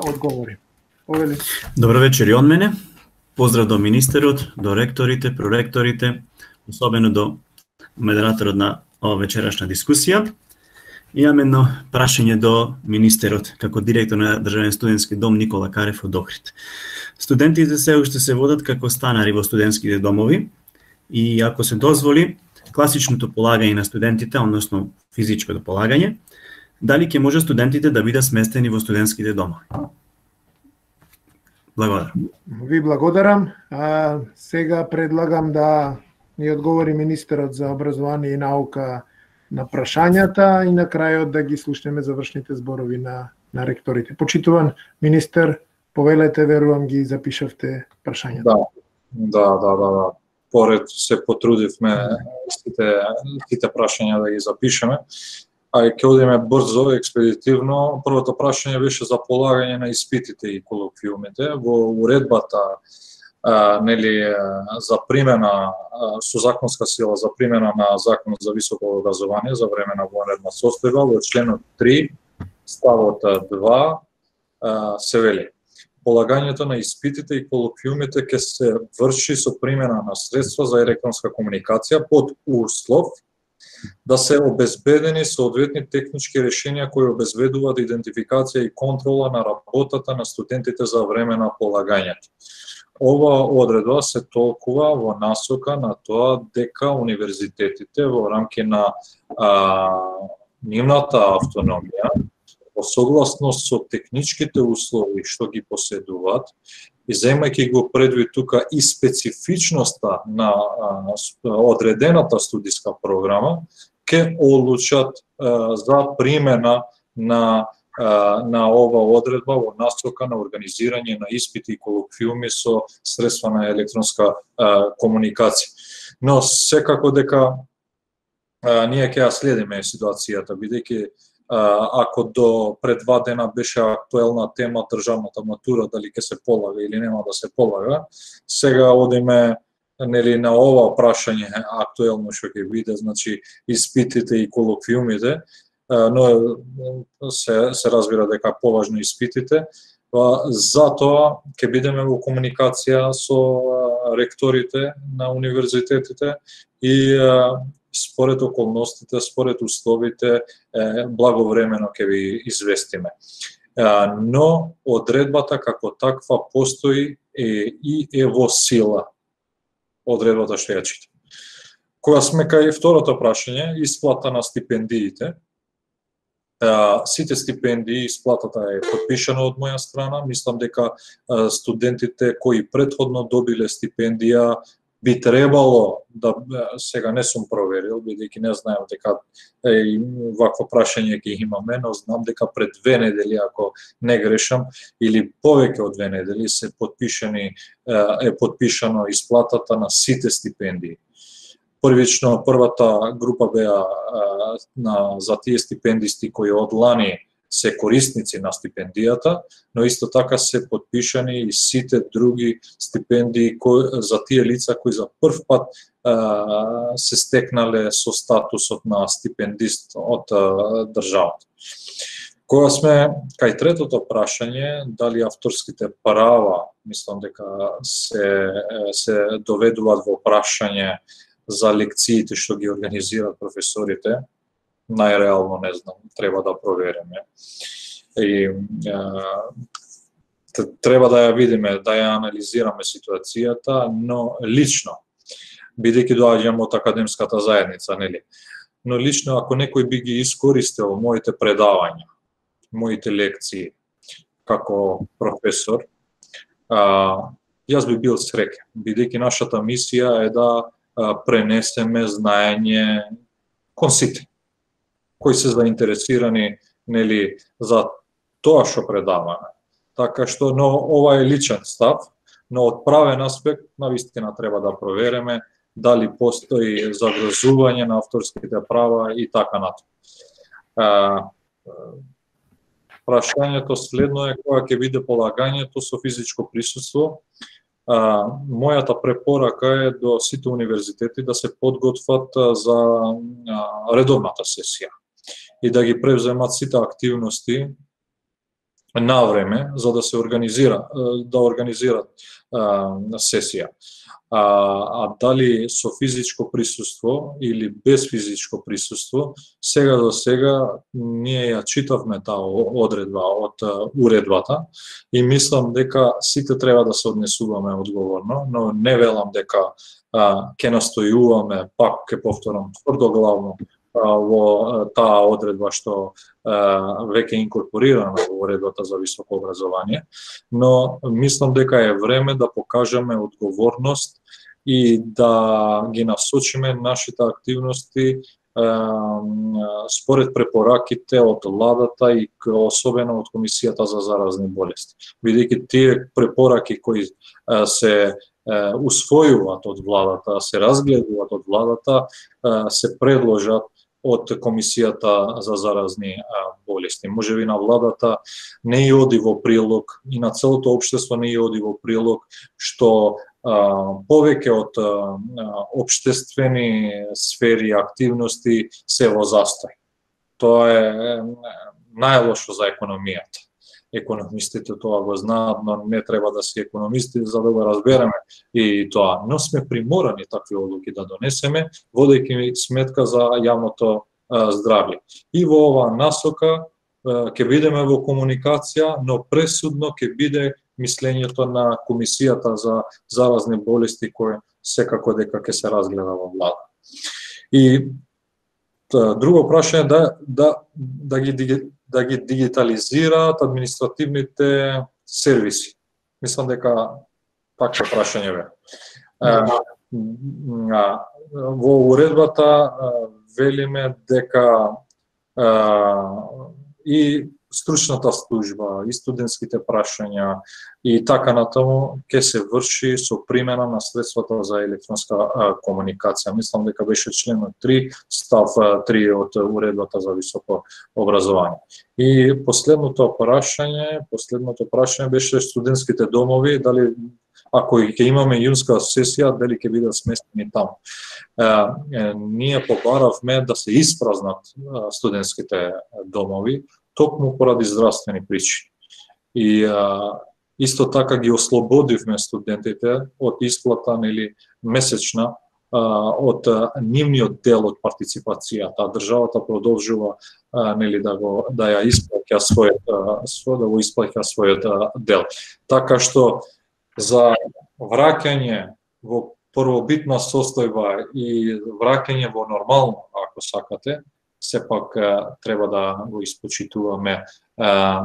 одговори. Повели. Добро вечер и од мене. Поздрав до министерот, до ректорите, проректорите, особено до модераторот на ова вечерашна дискусија. Имам едно прашање до министерот како директор на Државен студентски дом Никола Карев од Охрид. Студентите се уште се водат како станари во студентските домови и ако се дозволи класичното полагање на студентите, односно физичкото полагање, дали ќе може студентите да бидат сместени во студентските домови? Благодарам. Ви благодарам. Сега предлагам да ни одговори министерот за образование и наука на прашањата и на крајот да ги слушнеме завршните зборови на ректорите. Почитуван министер, повелете, верувам ги запишавте прашањата. Да. Поред се потрудивме сите прашања да ги запишеме. Ќе одиме брзо, експедитивно. Првото прашање беше за полагање на испитите и колоквиумите. Во уредбата за примена со законска сила за примена на Закон за високо образование за време на вонредна состојба, во членот 3 ставот 2 се вели: полагањето на испитите и колоквиумите ќе се врши со примена на средства за електронска комуникација под услов да се обезбедени соодветни технички решенија кои обезбедуваат идентификација и контрола на работата на студентите за време на полагањето. Ова одредба се толкува во насока на тоа дека универзитетите во рамки на нивната автономија, согласно со техничките услови што ги поседуваат и земајќи го предвид тука и специфичноста на одредената студиска програма, ќе одлучат за примена на ова одредба во насока на организирање на испити и колоквиуми со средства на електронска комуникација. Но секако дека ние ќе ја следиме ситуацијата, бидејќи ако до пред 2 дена беше актуелна тема државната матура, дали ќе се полага или нема да се полага, сега одиме на ова прашање актуелно што ќе биде, значи испитите и колоквиумите, но се разбира дека поважно испитите. Затоа ќе бидеме во комуникација со ректорите на универзитетите и според околностите, според условите, благовремено ќе ви известиме. Но одредбата како таква постои и е во сила. Одредбата што ја читам. Кога сме кај второто прашање, исплата на стипендиите, сите стипендии, исплатата е подпишана од моја страна. Мислам дека студентите кои претходно добиле стипендија би требало да, сега не сум проверил, бидејќи не знаем дека вакво прашање ќе имаме, но знам дека пред 2 недели, ако не грешам, или повеќе од 2 недели е подпишано исплатата на сите стипендии. Првично, првата група беа за тие стипендисти кои од лани се корисници на стипендијата, но исто така се подпишани и сите други стипендии за тие лица кои за прв пат се стекнале со статусот на стипендист од државата. Кога сме кај третото прашање, дали авторските права, мислам дека се доведуваат во прашање за лекциите што ги организираат професорите, најреално не знам, треба да провериме. И треба да ја видиме, да ја анализираме ситуацијата, но лично, бидејќи доаѓам од академската заедница, нели? Но лично ако некој би ги искористил моите предавања, моите лекции како професор, јас би бил среќен, бидејќи нашата мисија е да пренесеме знаење кон сите кои се заинтересирани нели за тоа што предаваме. Така што ова е личен став, но од правен аспект навистина треба да провериме дали постои загрозување на авторските права и така натаму. Прашањето следно е кога ќе биде полагањето со физичко присуство. Мојата препорака е до сите универзитети да се подготват за редовната сесија и да ги превземат сите активности на време за да се организират сесија. Дали со физичко присуство или без физичко присуство, сега за сега ние ја читавме таа одредба од уредбата и мислам дека сите треба да се однесуваме одговорно, но не велам дека ќе настојуваме, пак ќе повторам тврдоглавно во таа одредба што веќе инкорпорирана во уредбата за високо образование, но мислам дека е време да покажеме одговорност и да ги насочиме нашите активности според препораките од владата и особено од Комисијата за заразни болести. Бидејќи тие препораки кои се усвојуваат од владата, се разгледуваат од владата, се предложат од Комисијата за заразни болести. Можеби на владата не и оди во прилог и на целото општество не и оди во прилог што повеќе од општествени сфери и активности се во застој. Тоа е најлошо за економијата. Економистите тоа го знаат, но не треба да се економисти за да го разбереме и тоа. Но сме приморани такви одлуки да донесеме, водејќи сметка за јавното здравје. И во оваа насока ќе бидеме во комуникација, но пресудно ќе биде мислењето на Комисијата за заразни болести кој секако дека ќе се разгледа во влада. И друго прашање да ги дигитализираат административните сервиси. Мислам дека такво прашање бе. Во уредбата велиме дека и стручната служба, и студентските прашања и така натаму ќе се врши со примена на средствата за електронска комуникација. Мислам дека беше членот 3, став 3 од уредбата за високо образование. И последното прашање беше студентските домови, дали ако ќе имаме јунска сесија, дали ќе бидат сместени таму. Ние побаравме да се испразнат студентските домови, токму поради здравствени причини. И исто така ги ослободивме студентите од исплата или месечна од нивниот дел од партиципацијата. Државата продолжува да ја исплаќа својот дел. Така што за враќање во првобитна состојба и враќање во нормално, ако сакате, сепак треба да го испочитуваме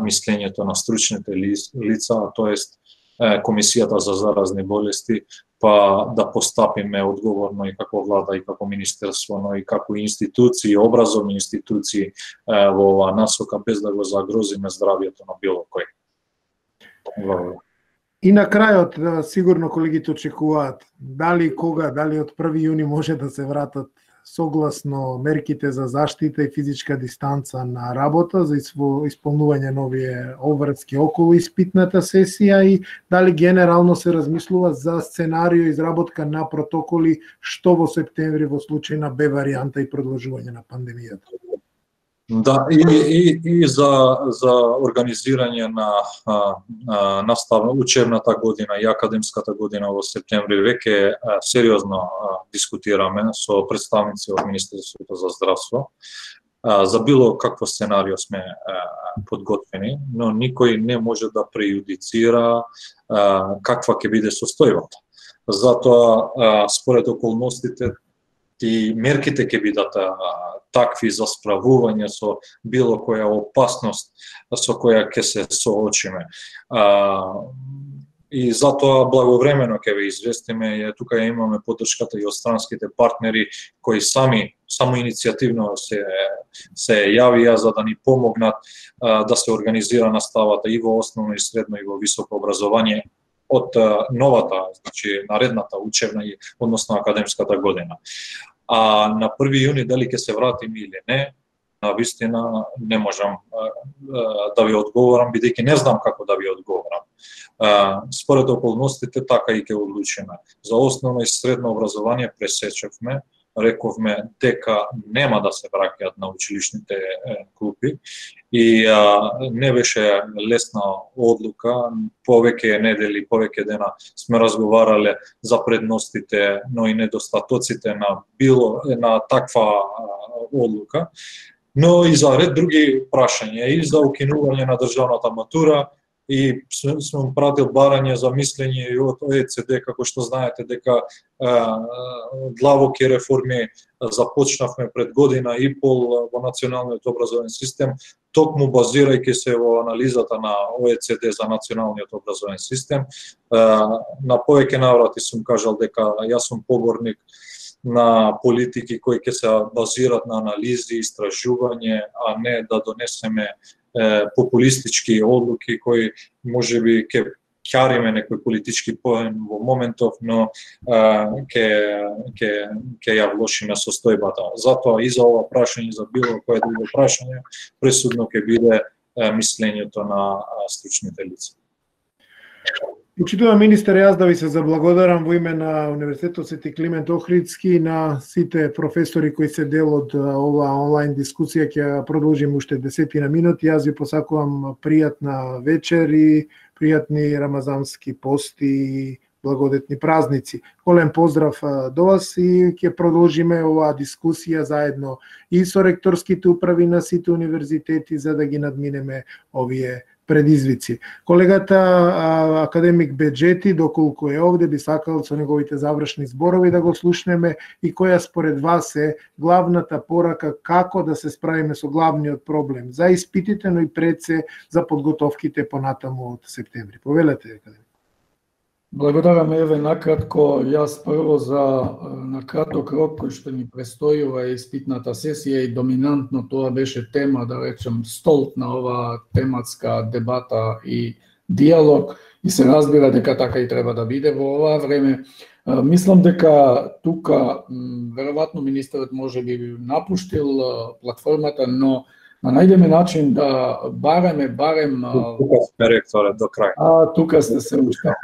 мислењето на стручните лица, тоест Комисијата за заразни болести, па да постапиме одговорно и како влада, и како министерство, но и како институции, образовни институции во оваа насока, без да го загрозиме здравјето на било кој. Благодарам. И на крајот, сигурно колегите очекуваат, дали од 1 јуни може да се вратат согласно мерките за заштита и физичка дистанца на работа за исполнување нови обврски околу испитната сесија и дали генерално се размислува за сценарио изработка на протоколи што во септември во случај на Б варијанта и продолжување на пандемијата. Да, и за организирање на учебната година и академската година во септември веќе сериозно дискутираме со представници од Министерството за здравство. За било какво сценарио сме подготвени, но никој не може да прејудицира каква ќе биде состојбата. Затоа, според околностите, и мерките ќе бидат такви за справување со било која опасност со која ќе се соочиме. и затоа благовремено ќе ве известиме, тука имаме поддршката и од странските партнери кои само иницијативно се јавија за да ни помогнат да се организира наставата и во основно и средно и во високо образование од новата, значи наредната учебна и односно академската година. А на 1 јуни дали ќе се вратиме или не, на вистина не можам да ви одговорам, бидејќи не знам како да ви одговорам. Според околностите така и ќе одлучиме. За основно и средно образование пресечевме, рековме дека нема да се враќаат на училишните клупи и не беше лесна одлука. Повеќе недели, повеќе дена сме разговарале за предностите, но и недостатоците на таква одлука. Но и за ред други прашања, и за укинување на државната матура, и сум пратил барање за мислење и од ОЕЦД, како што знаете дека длабоки реформи започнавме пред година и пол во националниот образовен систем, токму базирајќи се во анализата на ОЕЦД за националниот образовен систем. На повеќе наврати сум кажал дека јас сум поборник на политики кои ќе се базират на анализи, истражување, а не да донесеме популистички одлуки кои можеби ќе ќариме некој политички поен во моментов, но ќе ја влошиме состојбата. Затоа и за ова прашање, за било кое друго прашање, пресудно ќе биде мислењето на стручните лица. Почитувам министер, јас да ви се заблагодарам во име на Универзитетот Свети Климент Охридски и на сите професори кои се дел од ова онлайн дискусија. Ќе продолжим уште 10 минути. Јас ви посакувам пријатна вечер и пријатни рамазански пости и благодетни празници. Голем поздрав до вас и ќе продолжиме оваа дискусија заедно и со ректорските управи на сите универзитети за да ги надминеме овие предизвици. Колегата академик Беџети, доколку е овде, би сакал со неговите завршни зборови да го слушнеме и која според вас е главната порака како да се справиме со главниот проблем за испитите, но и пред се за подготовките понатаму од септември. Повелете, академик. Благодарам, еве накратко, јас прво на краток рок кој што ни престојува испитната сесија и доминантно тоа беше тема, да речем, столт на оваа тематска дебата и диалог и се разбира дека така и треба да биде во оваа време. Мислам дека тука веројатно министерот може би напуштил платформата, но да најдеме начин да барем тука сме ректоре до крај. Тука сте се уште.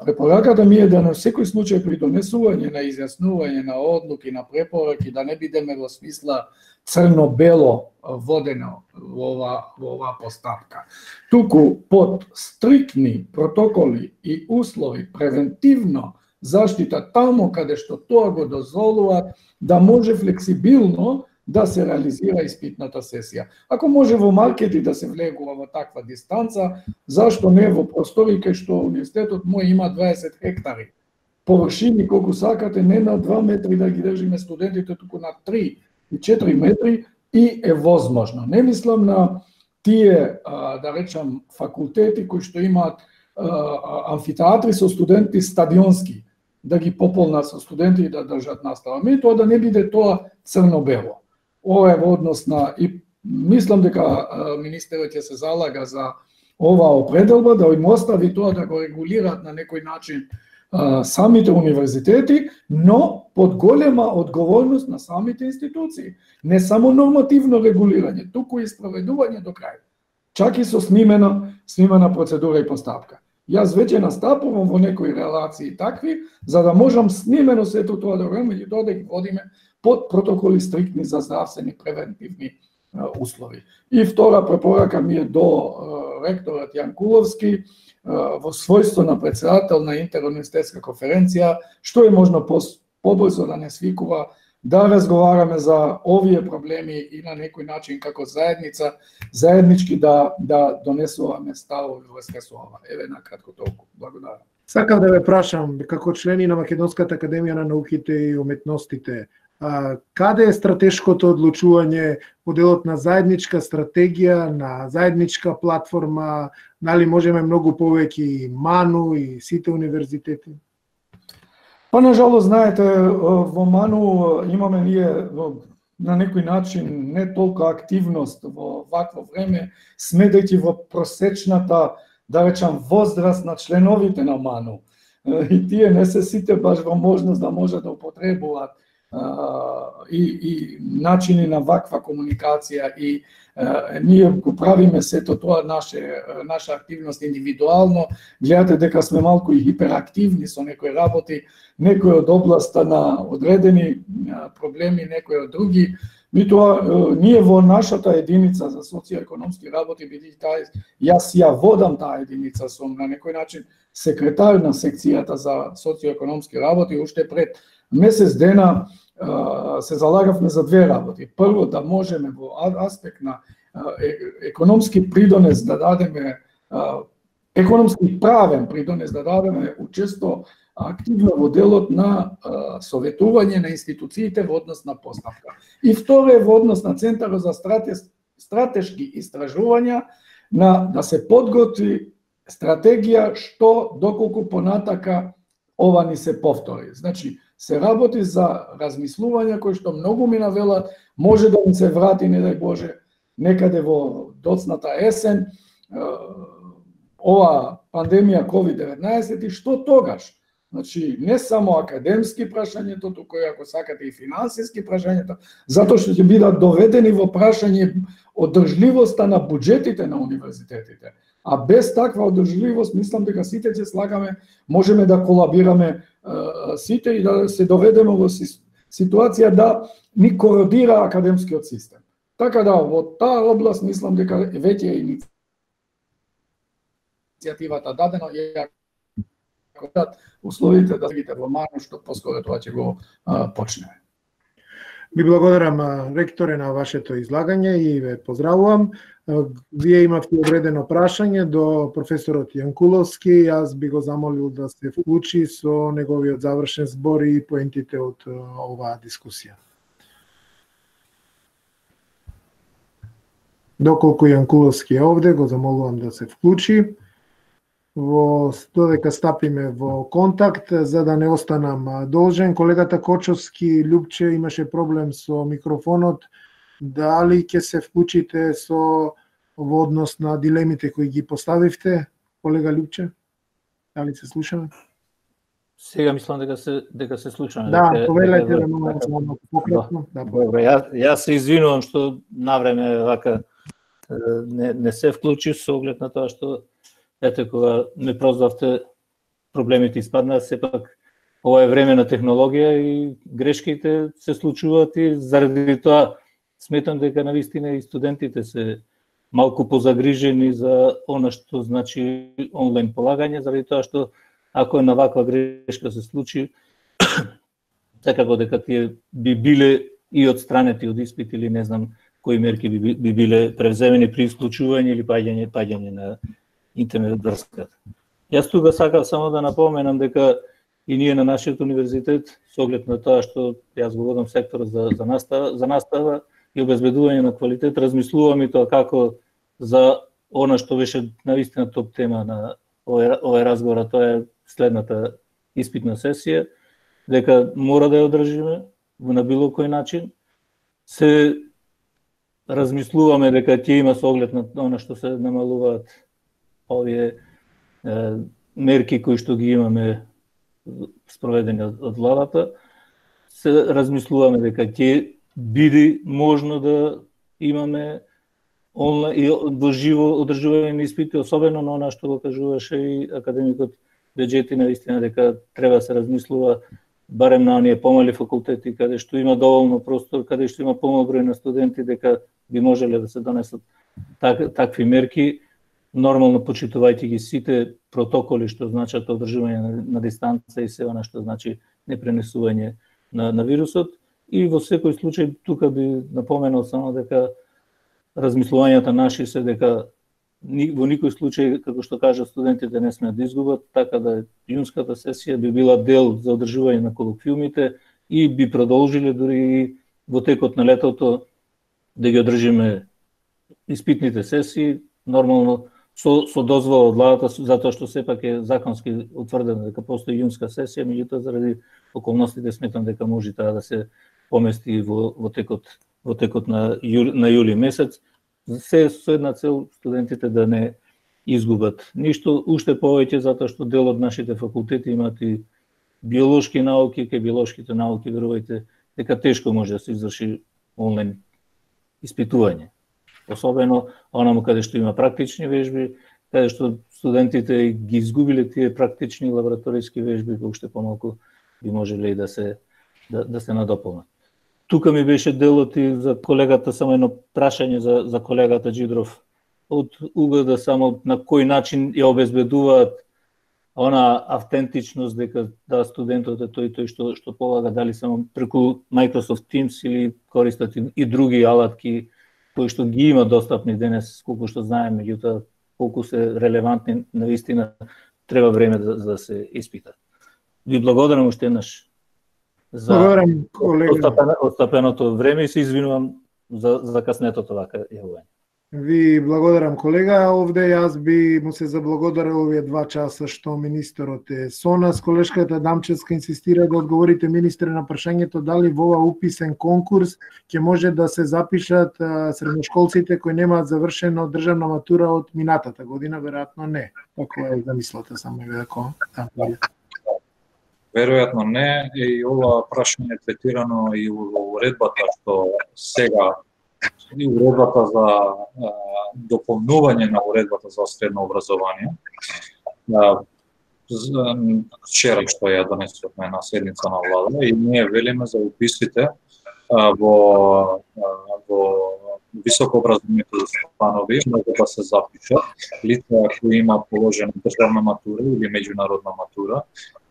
Препораката ми е да на секој случај при донесување на изјаснување на одлуки, на препораки, да не бидеме во смисла црно-бело водено во оваа постапка. Туку под стрикни протоколи и услови, превентивно заштита тамо каде што тоа го дозволува, да може флексибилно да се реализира испитната сесија. Ако може во маркети да се влегува во таква дистанца, зашто не во простори кај што универзитетот мој има 20 хектари. Површини колку сакате, не на 2 метри да ги држиме студентите, туку на 3 и 4 метри и е возможно. Не мислам на тие, да речам, факултети кои што имаат амфитеатри со студенти стадионски, да ги пополнат со студенти и да држат настава. Тоа да не биде тоа црно-бело. Ова е во однос на, и мислам дека министерот ќе се залага за оваа определба, да им остави тоа да го регулираат на некој начин самите универзитети, но под голема одговорност на самите институции. Не само нормативно регулирање, туку и спроведување до крај. Чак и со снимена процедура и постапка. Јас веќе настапувам во некои релации такви, за да можам снимено сето тоа да го и тоа да ги водиме под протоколи стриктни за здравствени превентивни услови. И втора препорака ми е до ректорот Јанкуловски, во својство на председател на интеруниверзитетска конференција, што е можно побрзо да не свикува, да разговараме за овие проблеми и на некој начин како заедница, заеднички да донесуваме ставови во врска со ова. Еве накратко толку. Благодарам. Сакам да ве прашам, како члени на Македонската академија на науките и уметностите, Каде е стратешкото одлучување по делот на заедничка стратегија, на заедничка платформа, дали можеме многу повеќе и МАНУ и сите универзитети? Па, нажалост, знаете, во МАНУ имаме ние на некој начин не толку активност во вакво време, смедајќи во просечната, да речам, возраст на членовите на МАНУ. И тие не се сите баш во можност да можат да употребуваат и начини на ваква комуникација и ние го правиме сето тоа наша активност индивидуално. Гледате дека сме малку и хиперактивни со некои работи, некои од областа на одредени проблеми, некои од други. Митоа, ние во нашата единица за социоекономски работи, бидејќи јас ја водам таа единица, сум на некој начин секретар на секцијата за социоекономски работи, уште пред месец дена се залагавме за две работи. Прво, да можеме во аспект на економски придонес да дадеме, економски правен придонес да дадеме учесто активно во делот на советување на институциите во однос на поставка. И второ е во однос на Центарот за стратешки истражувања да се подготви стратегија што доколку понатака ова ни се повтори. Значи, се работи за размислување кои што многу ми навелат, може да ни се врати, не дај Боже, некаде во доцната есен, ова пандемија COVID-19 и што тогаш? Значи, не само академски прашањето, туку и ако сакате и финансиски прашањето, затоа што ќе бидат доведени во прашање одржливоста на буџетите на универзитетите. А без таква одржливост, мислам дека сите ќе слагаме, можеме да колабираме сите и да се доведеме во ситуација да ни кородира академскиот систем. Така да, во таа област, мислам дека веќе е иницијативата дадено и ако условите да видите во МАНУ, што поскоро тоа ќе го почнеме. Ви благодарам, ректоре, на вашето излагање и ве поздравувам. Вие имавте одредено прашање до професорот Јанкуловски. Јас би го замолил да се вклучи со неговиот завршен збор и поентите од оваа дискусија. Доколку Јанкуловски е овде, го замолувам да се вклучи. Додека стапиме во контакт, за да не останам должен, колегата Кочовски, Љупче, имаше проблем со микрофонот. Дали ќе се вклучите во однос на дилемите кои ги поставивте, колега Љупче? Дали се слушаме? Сега мислам дека се слушаме. Да, повелете да малку пократно. Добре, јас се извинувам што навреме вака не се вклучив со оглед на тоа што ете кога ме прозвавте проблемите испаднаа, сепак ова е време на технологија и грешките се случуваат и заради тоа сметам дека навистина и студентите се малку позагрижени за она што значи онлайн полагање, заради тоа што ако е на ваква грешка се случи, секако дека тие би биле и одстранети од испит или не знам кои мерки би биле превземени при исклучување или паѓање на интернет врската. Јас тука сакав само да напоменам дека и ние на нашиот универзитет, со оглед на тоа што јас го водам секторот за настава и обезбедување на квалитет, размислувам и тоа како за она што беше навистина топ тема на овој разговор, тоа е следната испитна сесија, дека мора да ја одржиме на било кој начин. Се размислуваме дека ќе има со оглед на она што се намалуваат овие мерки кои што ги имаме спроведени од владата. Се размислуваме дека ќе биде можно да имаме онлайн и во живо одржување на испити, особено на она што го кажуваше и академикот Беџети, наистина дека треба да се размислува барем на оние помали факултети каде што има доволно простор, каде што има помал број на студенти, дека би можеле да се донесат такви мерки, нормално почитувајќи ги сите протоколи што значат одржување на дистанца и се она што значи непренесување на вирусот. И во секој случај тука би напоменал само дека размислувањата наши се дека во никој случај, како што кажа студентите, не смеат да изгубат, така да јунската сесија би била дел за одржување на колоквиумите и би продолжиле дури во текот на летото да ги одржиме испитните сесии, нормално со дозвола од владата, затоа што сепак е законски утврдено дека постои јунска сесија, меѓутоа заради околностите сметам дека може таа да се помести во текот на јули месец. Се со една цел студентите да не изгубат ништо, уште повеќе затоа што дел од нашите факултети имаат и биолошки науки, кај биолошките науки верувајте дека тешко може да се изврши онлайн испитување. Особено онаму каде што има практични вежби, каде што студентите ги изгубиле тие практични лабораториски вежби, уште помалку би можеле и да се надополнат. Тука ми беше делот и за колегата, само едно прашање за колегата Джидров, од угледа само на кој начин ја обезбедуваат она автентичност дека студентот е тој што полага, дали само преку Microsoft Teams или користат и други алатки кои што ги има достапни денес, колку што знаеме, меѓутоа колку се релевантни, навистина треба време да се испитат. Ви благодарам уште еднаш за отстапеното време и се извинувам за каснетото вака јавување. Ви благодарам, колега. Овде јас би му се заблагодарил овие 2 часа што министерот е со нас. Колешката Дамчевска инсистира да одговорите министре на прашањето дали во ова уписен конкурс ќе може да се запишат средношколците кои немаат завршено државна матура од минатата година, веројатно не. Како е замислата, само како веројатно не, и ова прашање е третирано и во уредбата што сега и уредбата за дополнување на уредбата за средно образование. Вчера што ја донесовме на седница на влада и ние велиме за уписите во високо образованите установи може да се запишат лица кои имаат положена државна матура или меѓународна матура,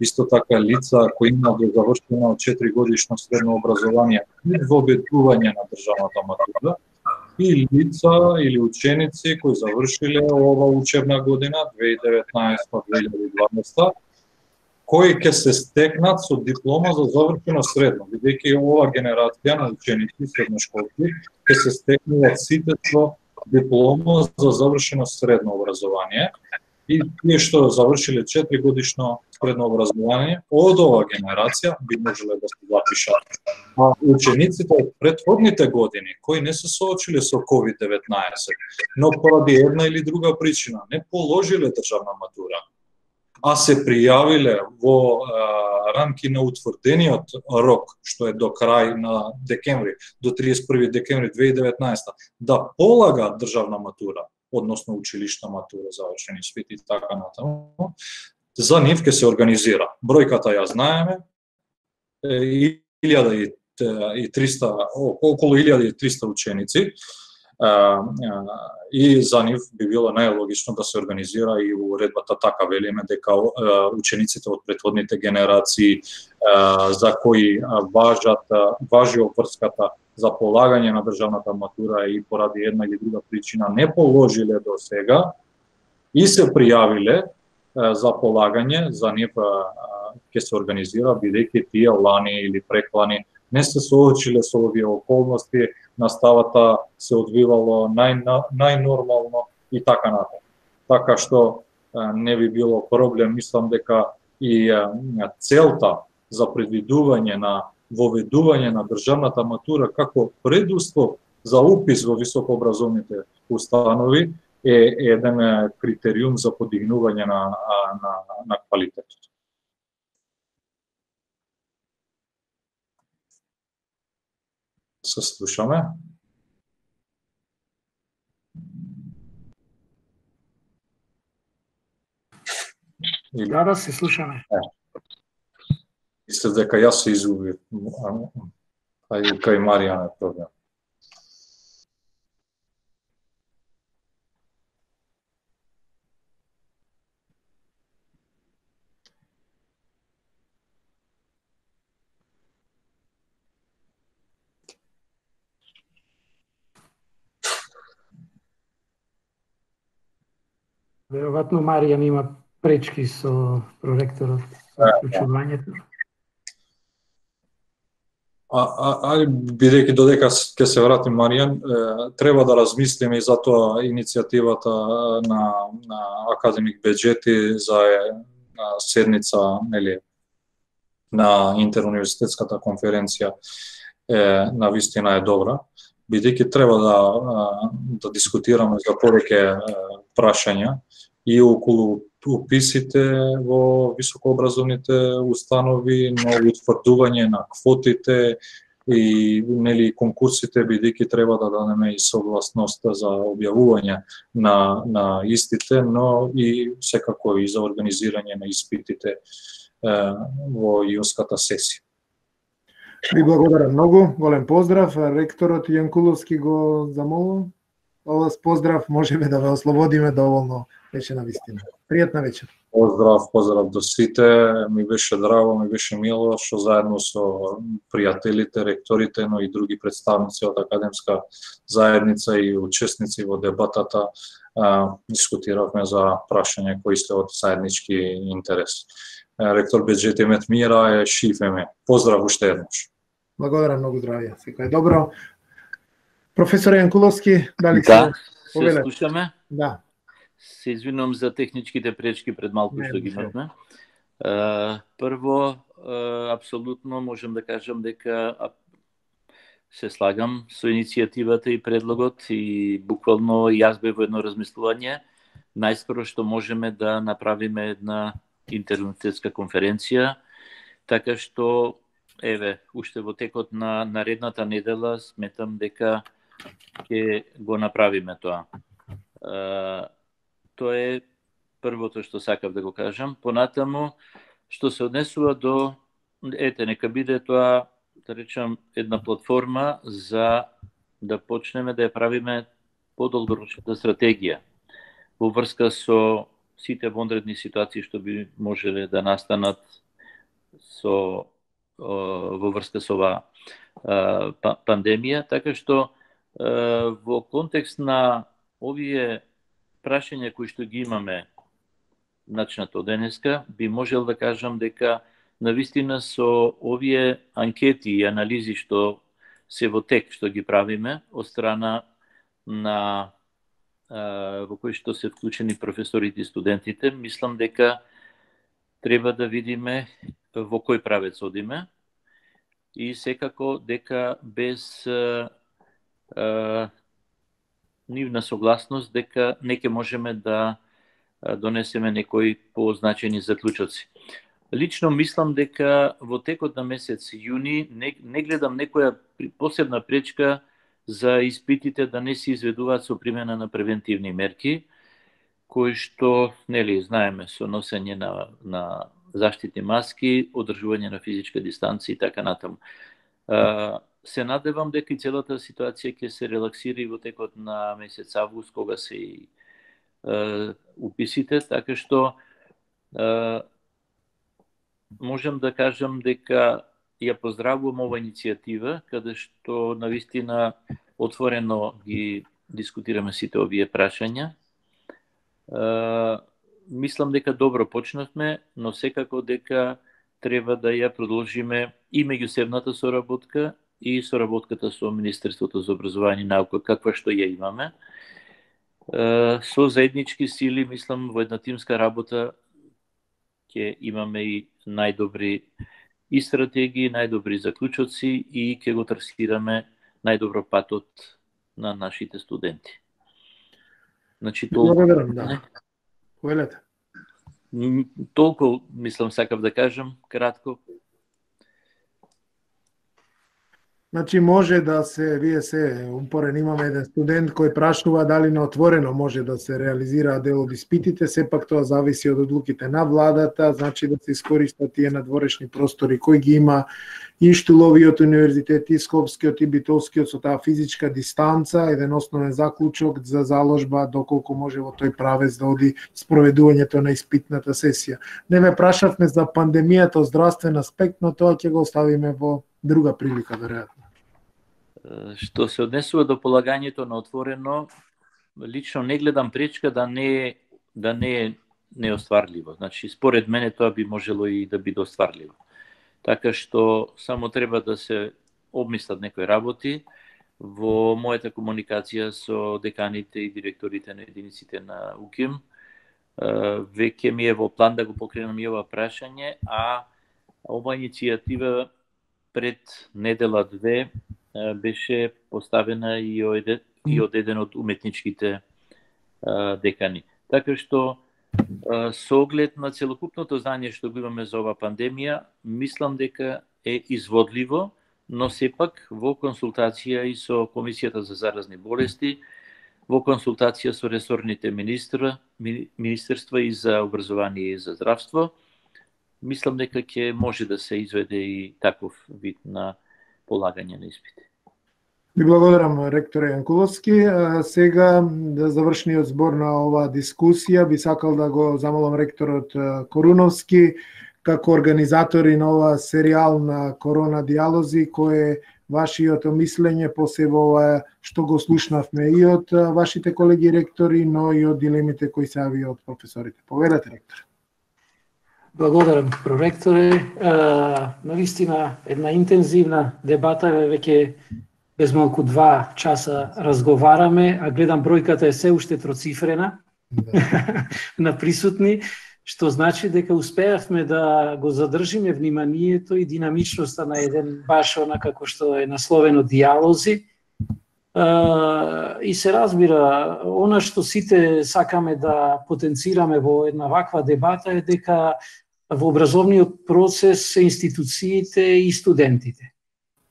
исто така лица кои имаат завршено 4 годишно средно образование и воведување на државната матура, и лица или ученици кои завршиле ова учебна година 2019-2020 кои ќе се стекнат со диплома за завршено средно, бидејќи ова генерација на ученици средношколци ќе се стекнуваат сите со диплома за завршено средно образование и тие што завршиле 4 годишно средно образование од ова генерација би можеле да се запишат. А учениците од претходните години кои не се соочиле со COVID-19, но поради една или друга причина не положиле државна матура, а се пријавиле во рамки на утврдениот рок, што е до крај на декември, до 31 декември 2019, да полагаат државна матура, односно училишна матура, завршени испити и така натаму, за нив ќе се организира. Бројката ја знаеме, 1300, околу 1300 ученици, и за нив би било најлогично да се организира и уредбата така велиме дека учениците од претходните генерации за кои важи обврската за полагање на државната матура и поради една или друга причина не положиле до сега и се пријавиле за полагање, за нив ќе се организира бидејќи тие лани или преклани не се соочиле со овие околности, наставата се одвивало најнормално и така натаму. Така што не би било проблем, мислам дека и целта за предвидување на воведување на државната матура како предуслов за упис во високообразовните установи е еден критериум за подигнување на квалитетот. Се слушаме. Да, се слушаме. Мислев дека јас се изгубив, а и кај Марија е проблем. Веројатно Марија има пречки со проректорот, со вклучувањето. Бидејќи додека ќе се вратим, Маријан, треба да размислиме и за тоа иницијативата на академик Беџети за седница, нели, на интеруниверзитетската конференција на вистина е добра, бидејќи треба да дискутираме за повеќе прашања и околу уписите во високообразовните установи, но утврдување на квотите и нели конкурсите, бидејќи треба да дадеме и согласност за објавување на истите, но и секако и за организирање на испитите во јунската сесија. Ви благодарам многу, голем поздрав. Ректорот Јанкуловски го замолувам. Овој поздрав можеме да ве ослободиме доволно, беше на вистина. Пријатна вечер. Поздрав до сите. Ми беше драго, ми беше мило што заедно со пријателите, ректорите, но и други представници од академска заедница и учесници во дебатата дискутиравме за прашања кои се од заеднички интерес. Ректор Беџети мет мира е шифеме. Поздрав уште еднаш. Благодарам, многу здравје. Секој е добро. Професор Јанкуловски, дали се слушаме? Да. Се извинувам за техничките пречки пред малку што ги имавме. Прво, апсолутно можам да кажам дека се слагам со иницијативата и предлогот и буквално јас бев во едно размислување. Најскоро што можеме да направиме една интеруниверзитетска конференција, така што еве, уште во текот на наредната недела сметам дека ќе го направиме тоа. Тоа е првото што сакав да го кажам. Понатаму, што се однесува до, нека биде тоа, да речам, една платформа за да почнеме да ја правиме подолгорочната стратегија во врска со сите вонредни ситуации што би можеле да настанат во врска со оваа пандемија, така што во контекст на овие прашања кои што ги имаме начнато денеска, би можел да кажам дека навистина со овие анкети и анализи што се во тек што ги правиме од страна на во кои што се вклучени професорите и студентите, мислам дека треба да видиме во кој правец одиме и секако дека без нивна согласност дека не ќе можеме да донесеме некои позначени заклучоци. Лично мислам дека во текот на месец јуни не гледам некоја посебна пречка за испитите да не се изведуваат со примена на превентивни мерки, кои што, нели, знаеме, со носење на заштитни маски, одржување на физичка дистанција и така натаму. Се надевам дека и целата ситуација ќе се релаксира и во текот на месец август, кога се и уписите, така што можам да кажам дека ја поздравувам ова иницијатива, каде што навистина отворено ги дискутираме сите овие прашања. Мислам дека добро почнавме, но секако дека треба да ја продолжиме и меѓусебната соработка и соработката со Министерството за образование и наука, каква што ја имаме. Со заеднички сили, мислам, во една тимска работа ќе имаме и најдобри и стратегии, најдобри заклучоци и ќе го трасираме најдобро патот на нашите студенти. Значи, Благодарам, да. Повелете. Толку, мислам, сакав да кажам, кратко. Значи може да се, вие се умпорен, имаме еден студент кој прашува дали на отворено може да се реализира дел од испитите, сепак тоа зависи од одлуките на владата, значи да се искористат тие надворешни простори кои ги има и Штуловиот универзитет, и Скопскиот, и Битолскиот со таа физичка дистанца, еден основен заклучок за заложба доколку може во тој правец да оди спроведувањето на испитната сесија. Не ме прашавме за пандемијата од здравствен аспект, но тоа ќе го оставиме во друга прилика, веројатно. Што се однесува до полагањето на отворено, лично не гледам пречка да не е неостварливо. Значи, според мене тоа би можело и да биде остварливо. Така што само треба да се обмислат некои работи во мојата комуникација со деканите и директорите на единиците на УКИМ. Веќе ми е во план да го покренам и ова прашање, а ова иницијатива пред недела-две беше поставена и од еден од уметничките декани. Така што со оглед на целокупното знање што го имаме за ова пандемија, мислам дека е изводливо, но сепак во консултација и со Комисијата за заразни болести, во консултација со ресорните министерства и за образование и за здравство, мислам дека ќе може да се изведе и таков вид на полагање на испити. Ви благодарам, ректор Јанкуловски. Сега, да завршниот збор на оваа дискусија, би сакал да го замолам ректорот Коруновски, како организатори на оваа серијал на Корона диалози, кој е вашиото мислење, посебно ова што го слушнавме и од вашите колеги ректори, но и од дилемите кои се јави од професорите. Поведете, ректор. Благодарам, проректоре. Навистина, една интензивна дебата, веќе без малку 2 часа разговараме, а гледам бројката е се уште троцифрена на присутни, што значи дека успеавме да го задржиме вниманието и динамичноста на еден баш како што е насловено диалози. И се разбира, она што сите сакаме да потенцираме во една ваква дебата е дека во образовниот процес се институциите и студентите.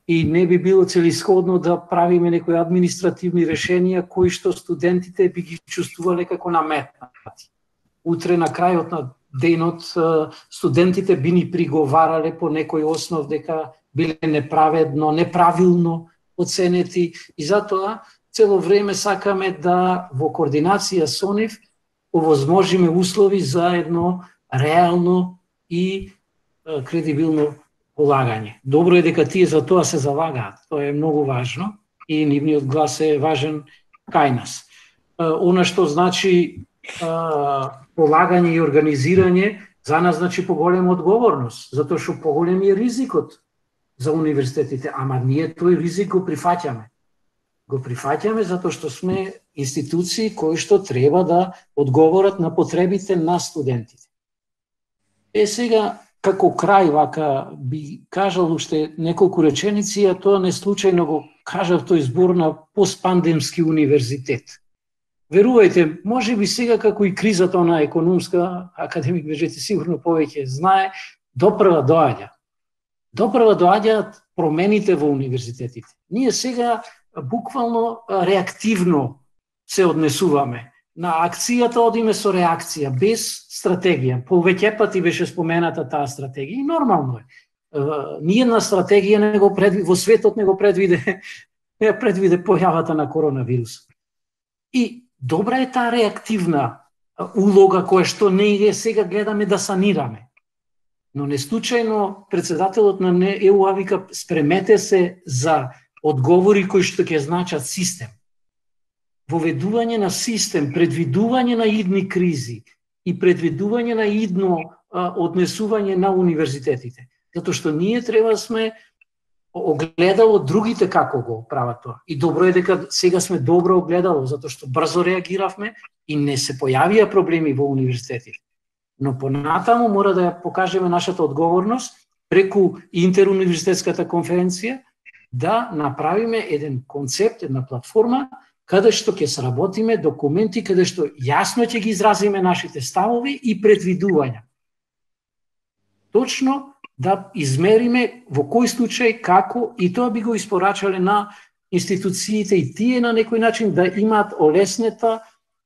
И не би било целисходно да правиме некои административни решенија кои што студентите би ги чувствувале како наметнати. Утре на крајот на денот студентите би ни приговарале по некој основ дека биле неправедно, неправилно оценети и затоа цело време сакаме да во координација со нив овозможиме услови за едно реално и кредибилно полагање. Добро е дека тие за тоа се залагаат. Тоа е многу важно и нивниот глас е важен кај нас. Она што значи полагање и организирање за нас значи поголема одговорност, затоа што поголем е ризикот за универзитетите, ама ние тој ризик го прифаќаме. Го прифаќаме затоа што сме институции кои што треба да одговорат на потребите на студентите. Сега, како крај, вака би кажал уште неколку реченици, а тоа не случајно го кажав тој збор на постпандемски универзитет. Верувајте, може би сега како и кризата на економска, академик Бежети сигурно повеќе знае, допрва доаѓа. Допрва доаѓаат промените во универзитетите. Ние сега буквално реактивно се однесуваме. На акцијата одиме со реакција, без стратегија. Повеќе пати беше спомената таа стратегија и нормално е. Ниедна стратегија не го во светот не го предвиде појавата на коронавирус. И добра е таа реактивна улога која што ние сега гледаме да санираме. Но не случајно председателот на ЕУ вика спремете се за одговори кои што ќе значат систем. Воведување на систем, предвидување на идни кризи и предвидување на идно однесување на универзитетите. Затоа што ние треба да сме огледало другите како го прават тоа. И добро е дека сега сме добро огледало, затоа што брзо реагиравме и не се појавија проблеми во универзитетите. Но понатаму мора да ја покажеме нашата одговорност преку интеруниверзитетската конференција да направиме еден концепт, една платформа каде што ќе сработиме документи, каде што јасно ќе ги изразиме нашите ставови и предвидувања. Точно да измериме во кој случај, како, и тоа би го испорачале на институциите и тие на некој начин да имаат олеснета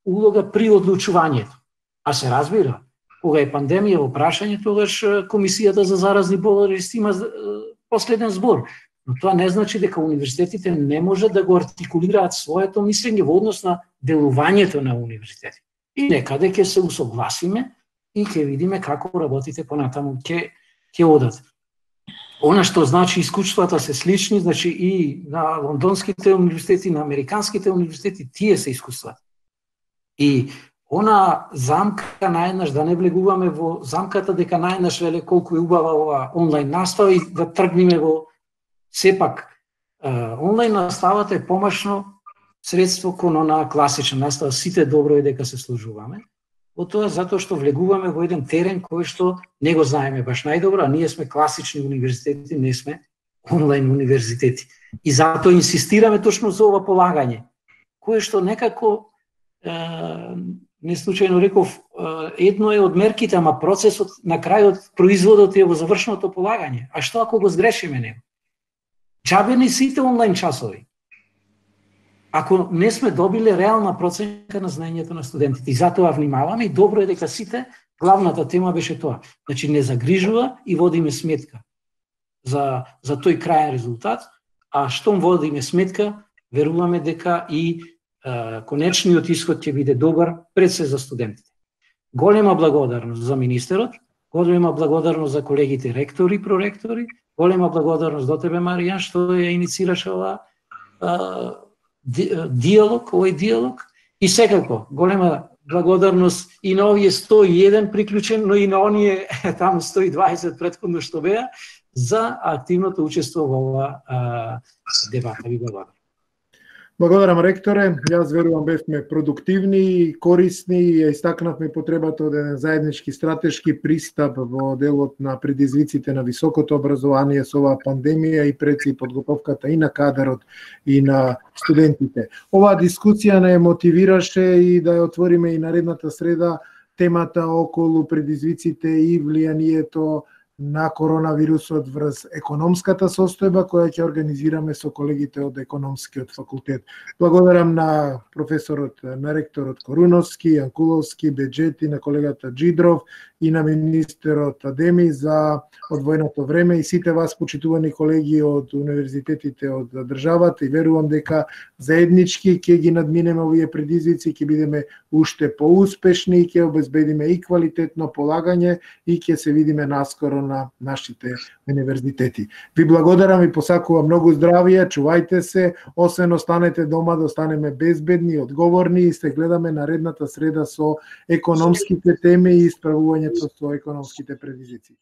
улога при одлучувањето. А се разбира, кога е пандемија во прашање, тогаш Комисијата за заразни болести има последен збор. Но тоа не значи дека универзитетите не може да го артикулираат своето мислење во однос на делувањето на универзитети. И некаде ќе се усогласиме и ќе видиме како работите понатаму ќе одат. Она што значи искуствата се слични, значи и на лондонските универзитети, на американските универзитети, тие се искуствата. И она замка наеднаш, да не влегуваме во замката дека наеднаш веле колку е убава ова онлайн настава и да тргнеме во сепак онлайн наставата е помашно средство кон на класична настава, сите добро е дека се служуваме. Во тоа затоа што влегуваме во еден терен кој што не го знаеме баш најдобро, а ние сме класични универзитети, не сме онлайн универзитети. И затоа инсистираме точно за ова полагање, кое што некако не случајно реков, едно е од мерките, ама процесот на крајот, производот е во завршеното полагање. А што ако го сгрешиме него? Џабе не сите онлайн часови. Ако не сме добиле реална проценка на знаењето на студентите. И затоа внимаваме и добро е дека сите, главната тема беше тоа. Значи не загрижува и водиме сметка за тој крајен резултат, а штом водиме сметка, веруваме дека и конечниот исход ќе биде добар пред се за студентите. Голема благодарност за министерот, голема благодарност за колегите ректори и проректори, голема благодарност до тебе, Маријан, што ја инициираше овој диалог и секако голема благодарност и на овие 101 приклучен, но и на оние таму 120 претходно што беа за активното учество во ова дебата. Ви благодарам. Благодарам, ректоре. Јас верувам бевме продуктивни и корисни и ја истакнавме потребата од еден заеднички стратешки пристап во делот на предизвиците на високото образование со оваа пандемија и пред подготовката и на кадарот и на студентите. Оваа дискусија не мотивираше и да ја отвориме и наредната среда темата околу предизвиците и влијанието на коронавирусот врз економската состојба која ќе организираме со колегите од економскиот факултет. Благодарам на професорот, на ректорот Коруновски, Јанкуловски, Беџети, на колегата Джидров и на министерот Адеми за одвоеното време и сите вас почитувани колеги од универзитетите од државата и верувам дека заеднички ќе ги надминеме овие предизвици, ќе бидеме уште поуспешни и ќе обезбедиме и квалитетно полагање и ќе се видиме наскоро на нашите универзитети. Ви благодарам и посакувам многу здравје, чувајте се, освен останете дома да останеме безбедни, одговорни и се гледаме наредната среда со економските теми и исправувањето со економските предизвици.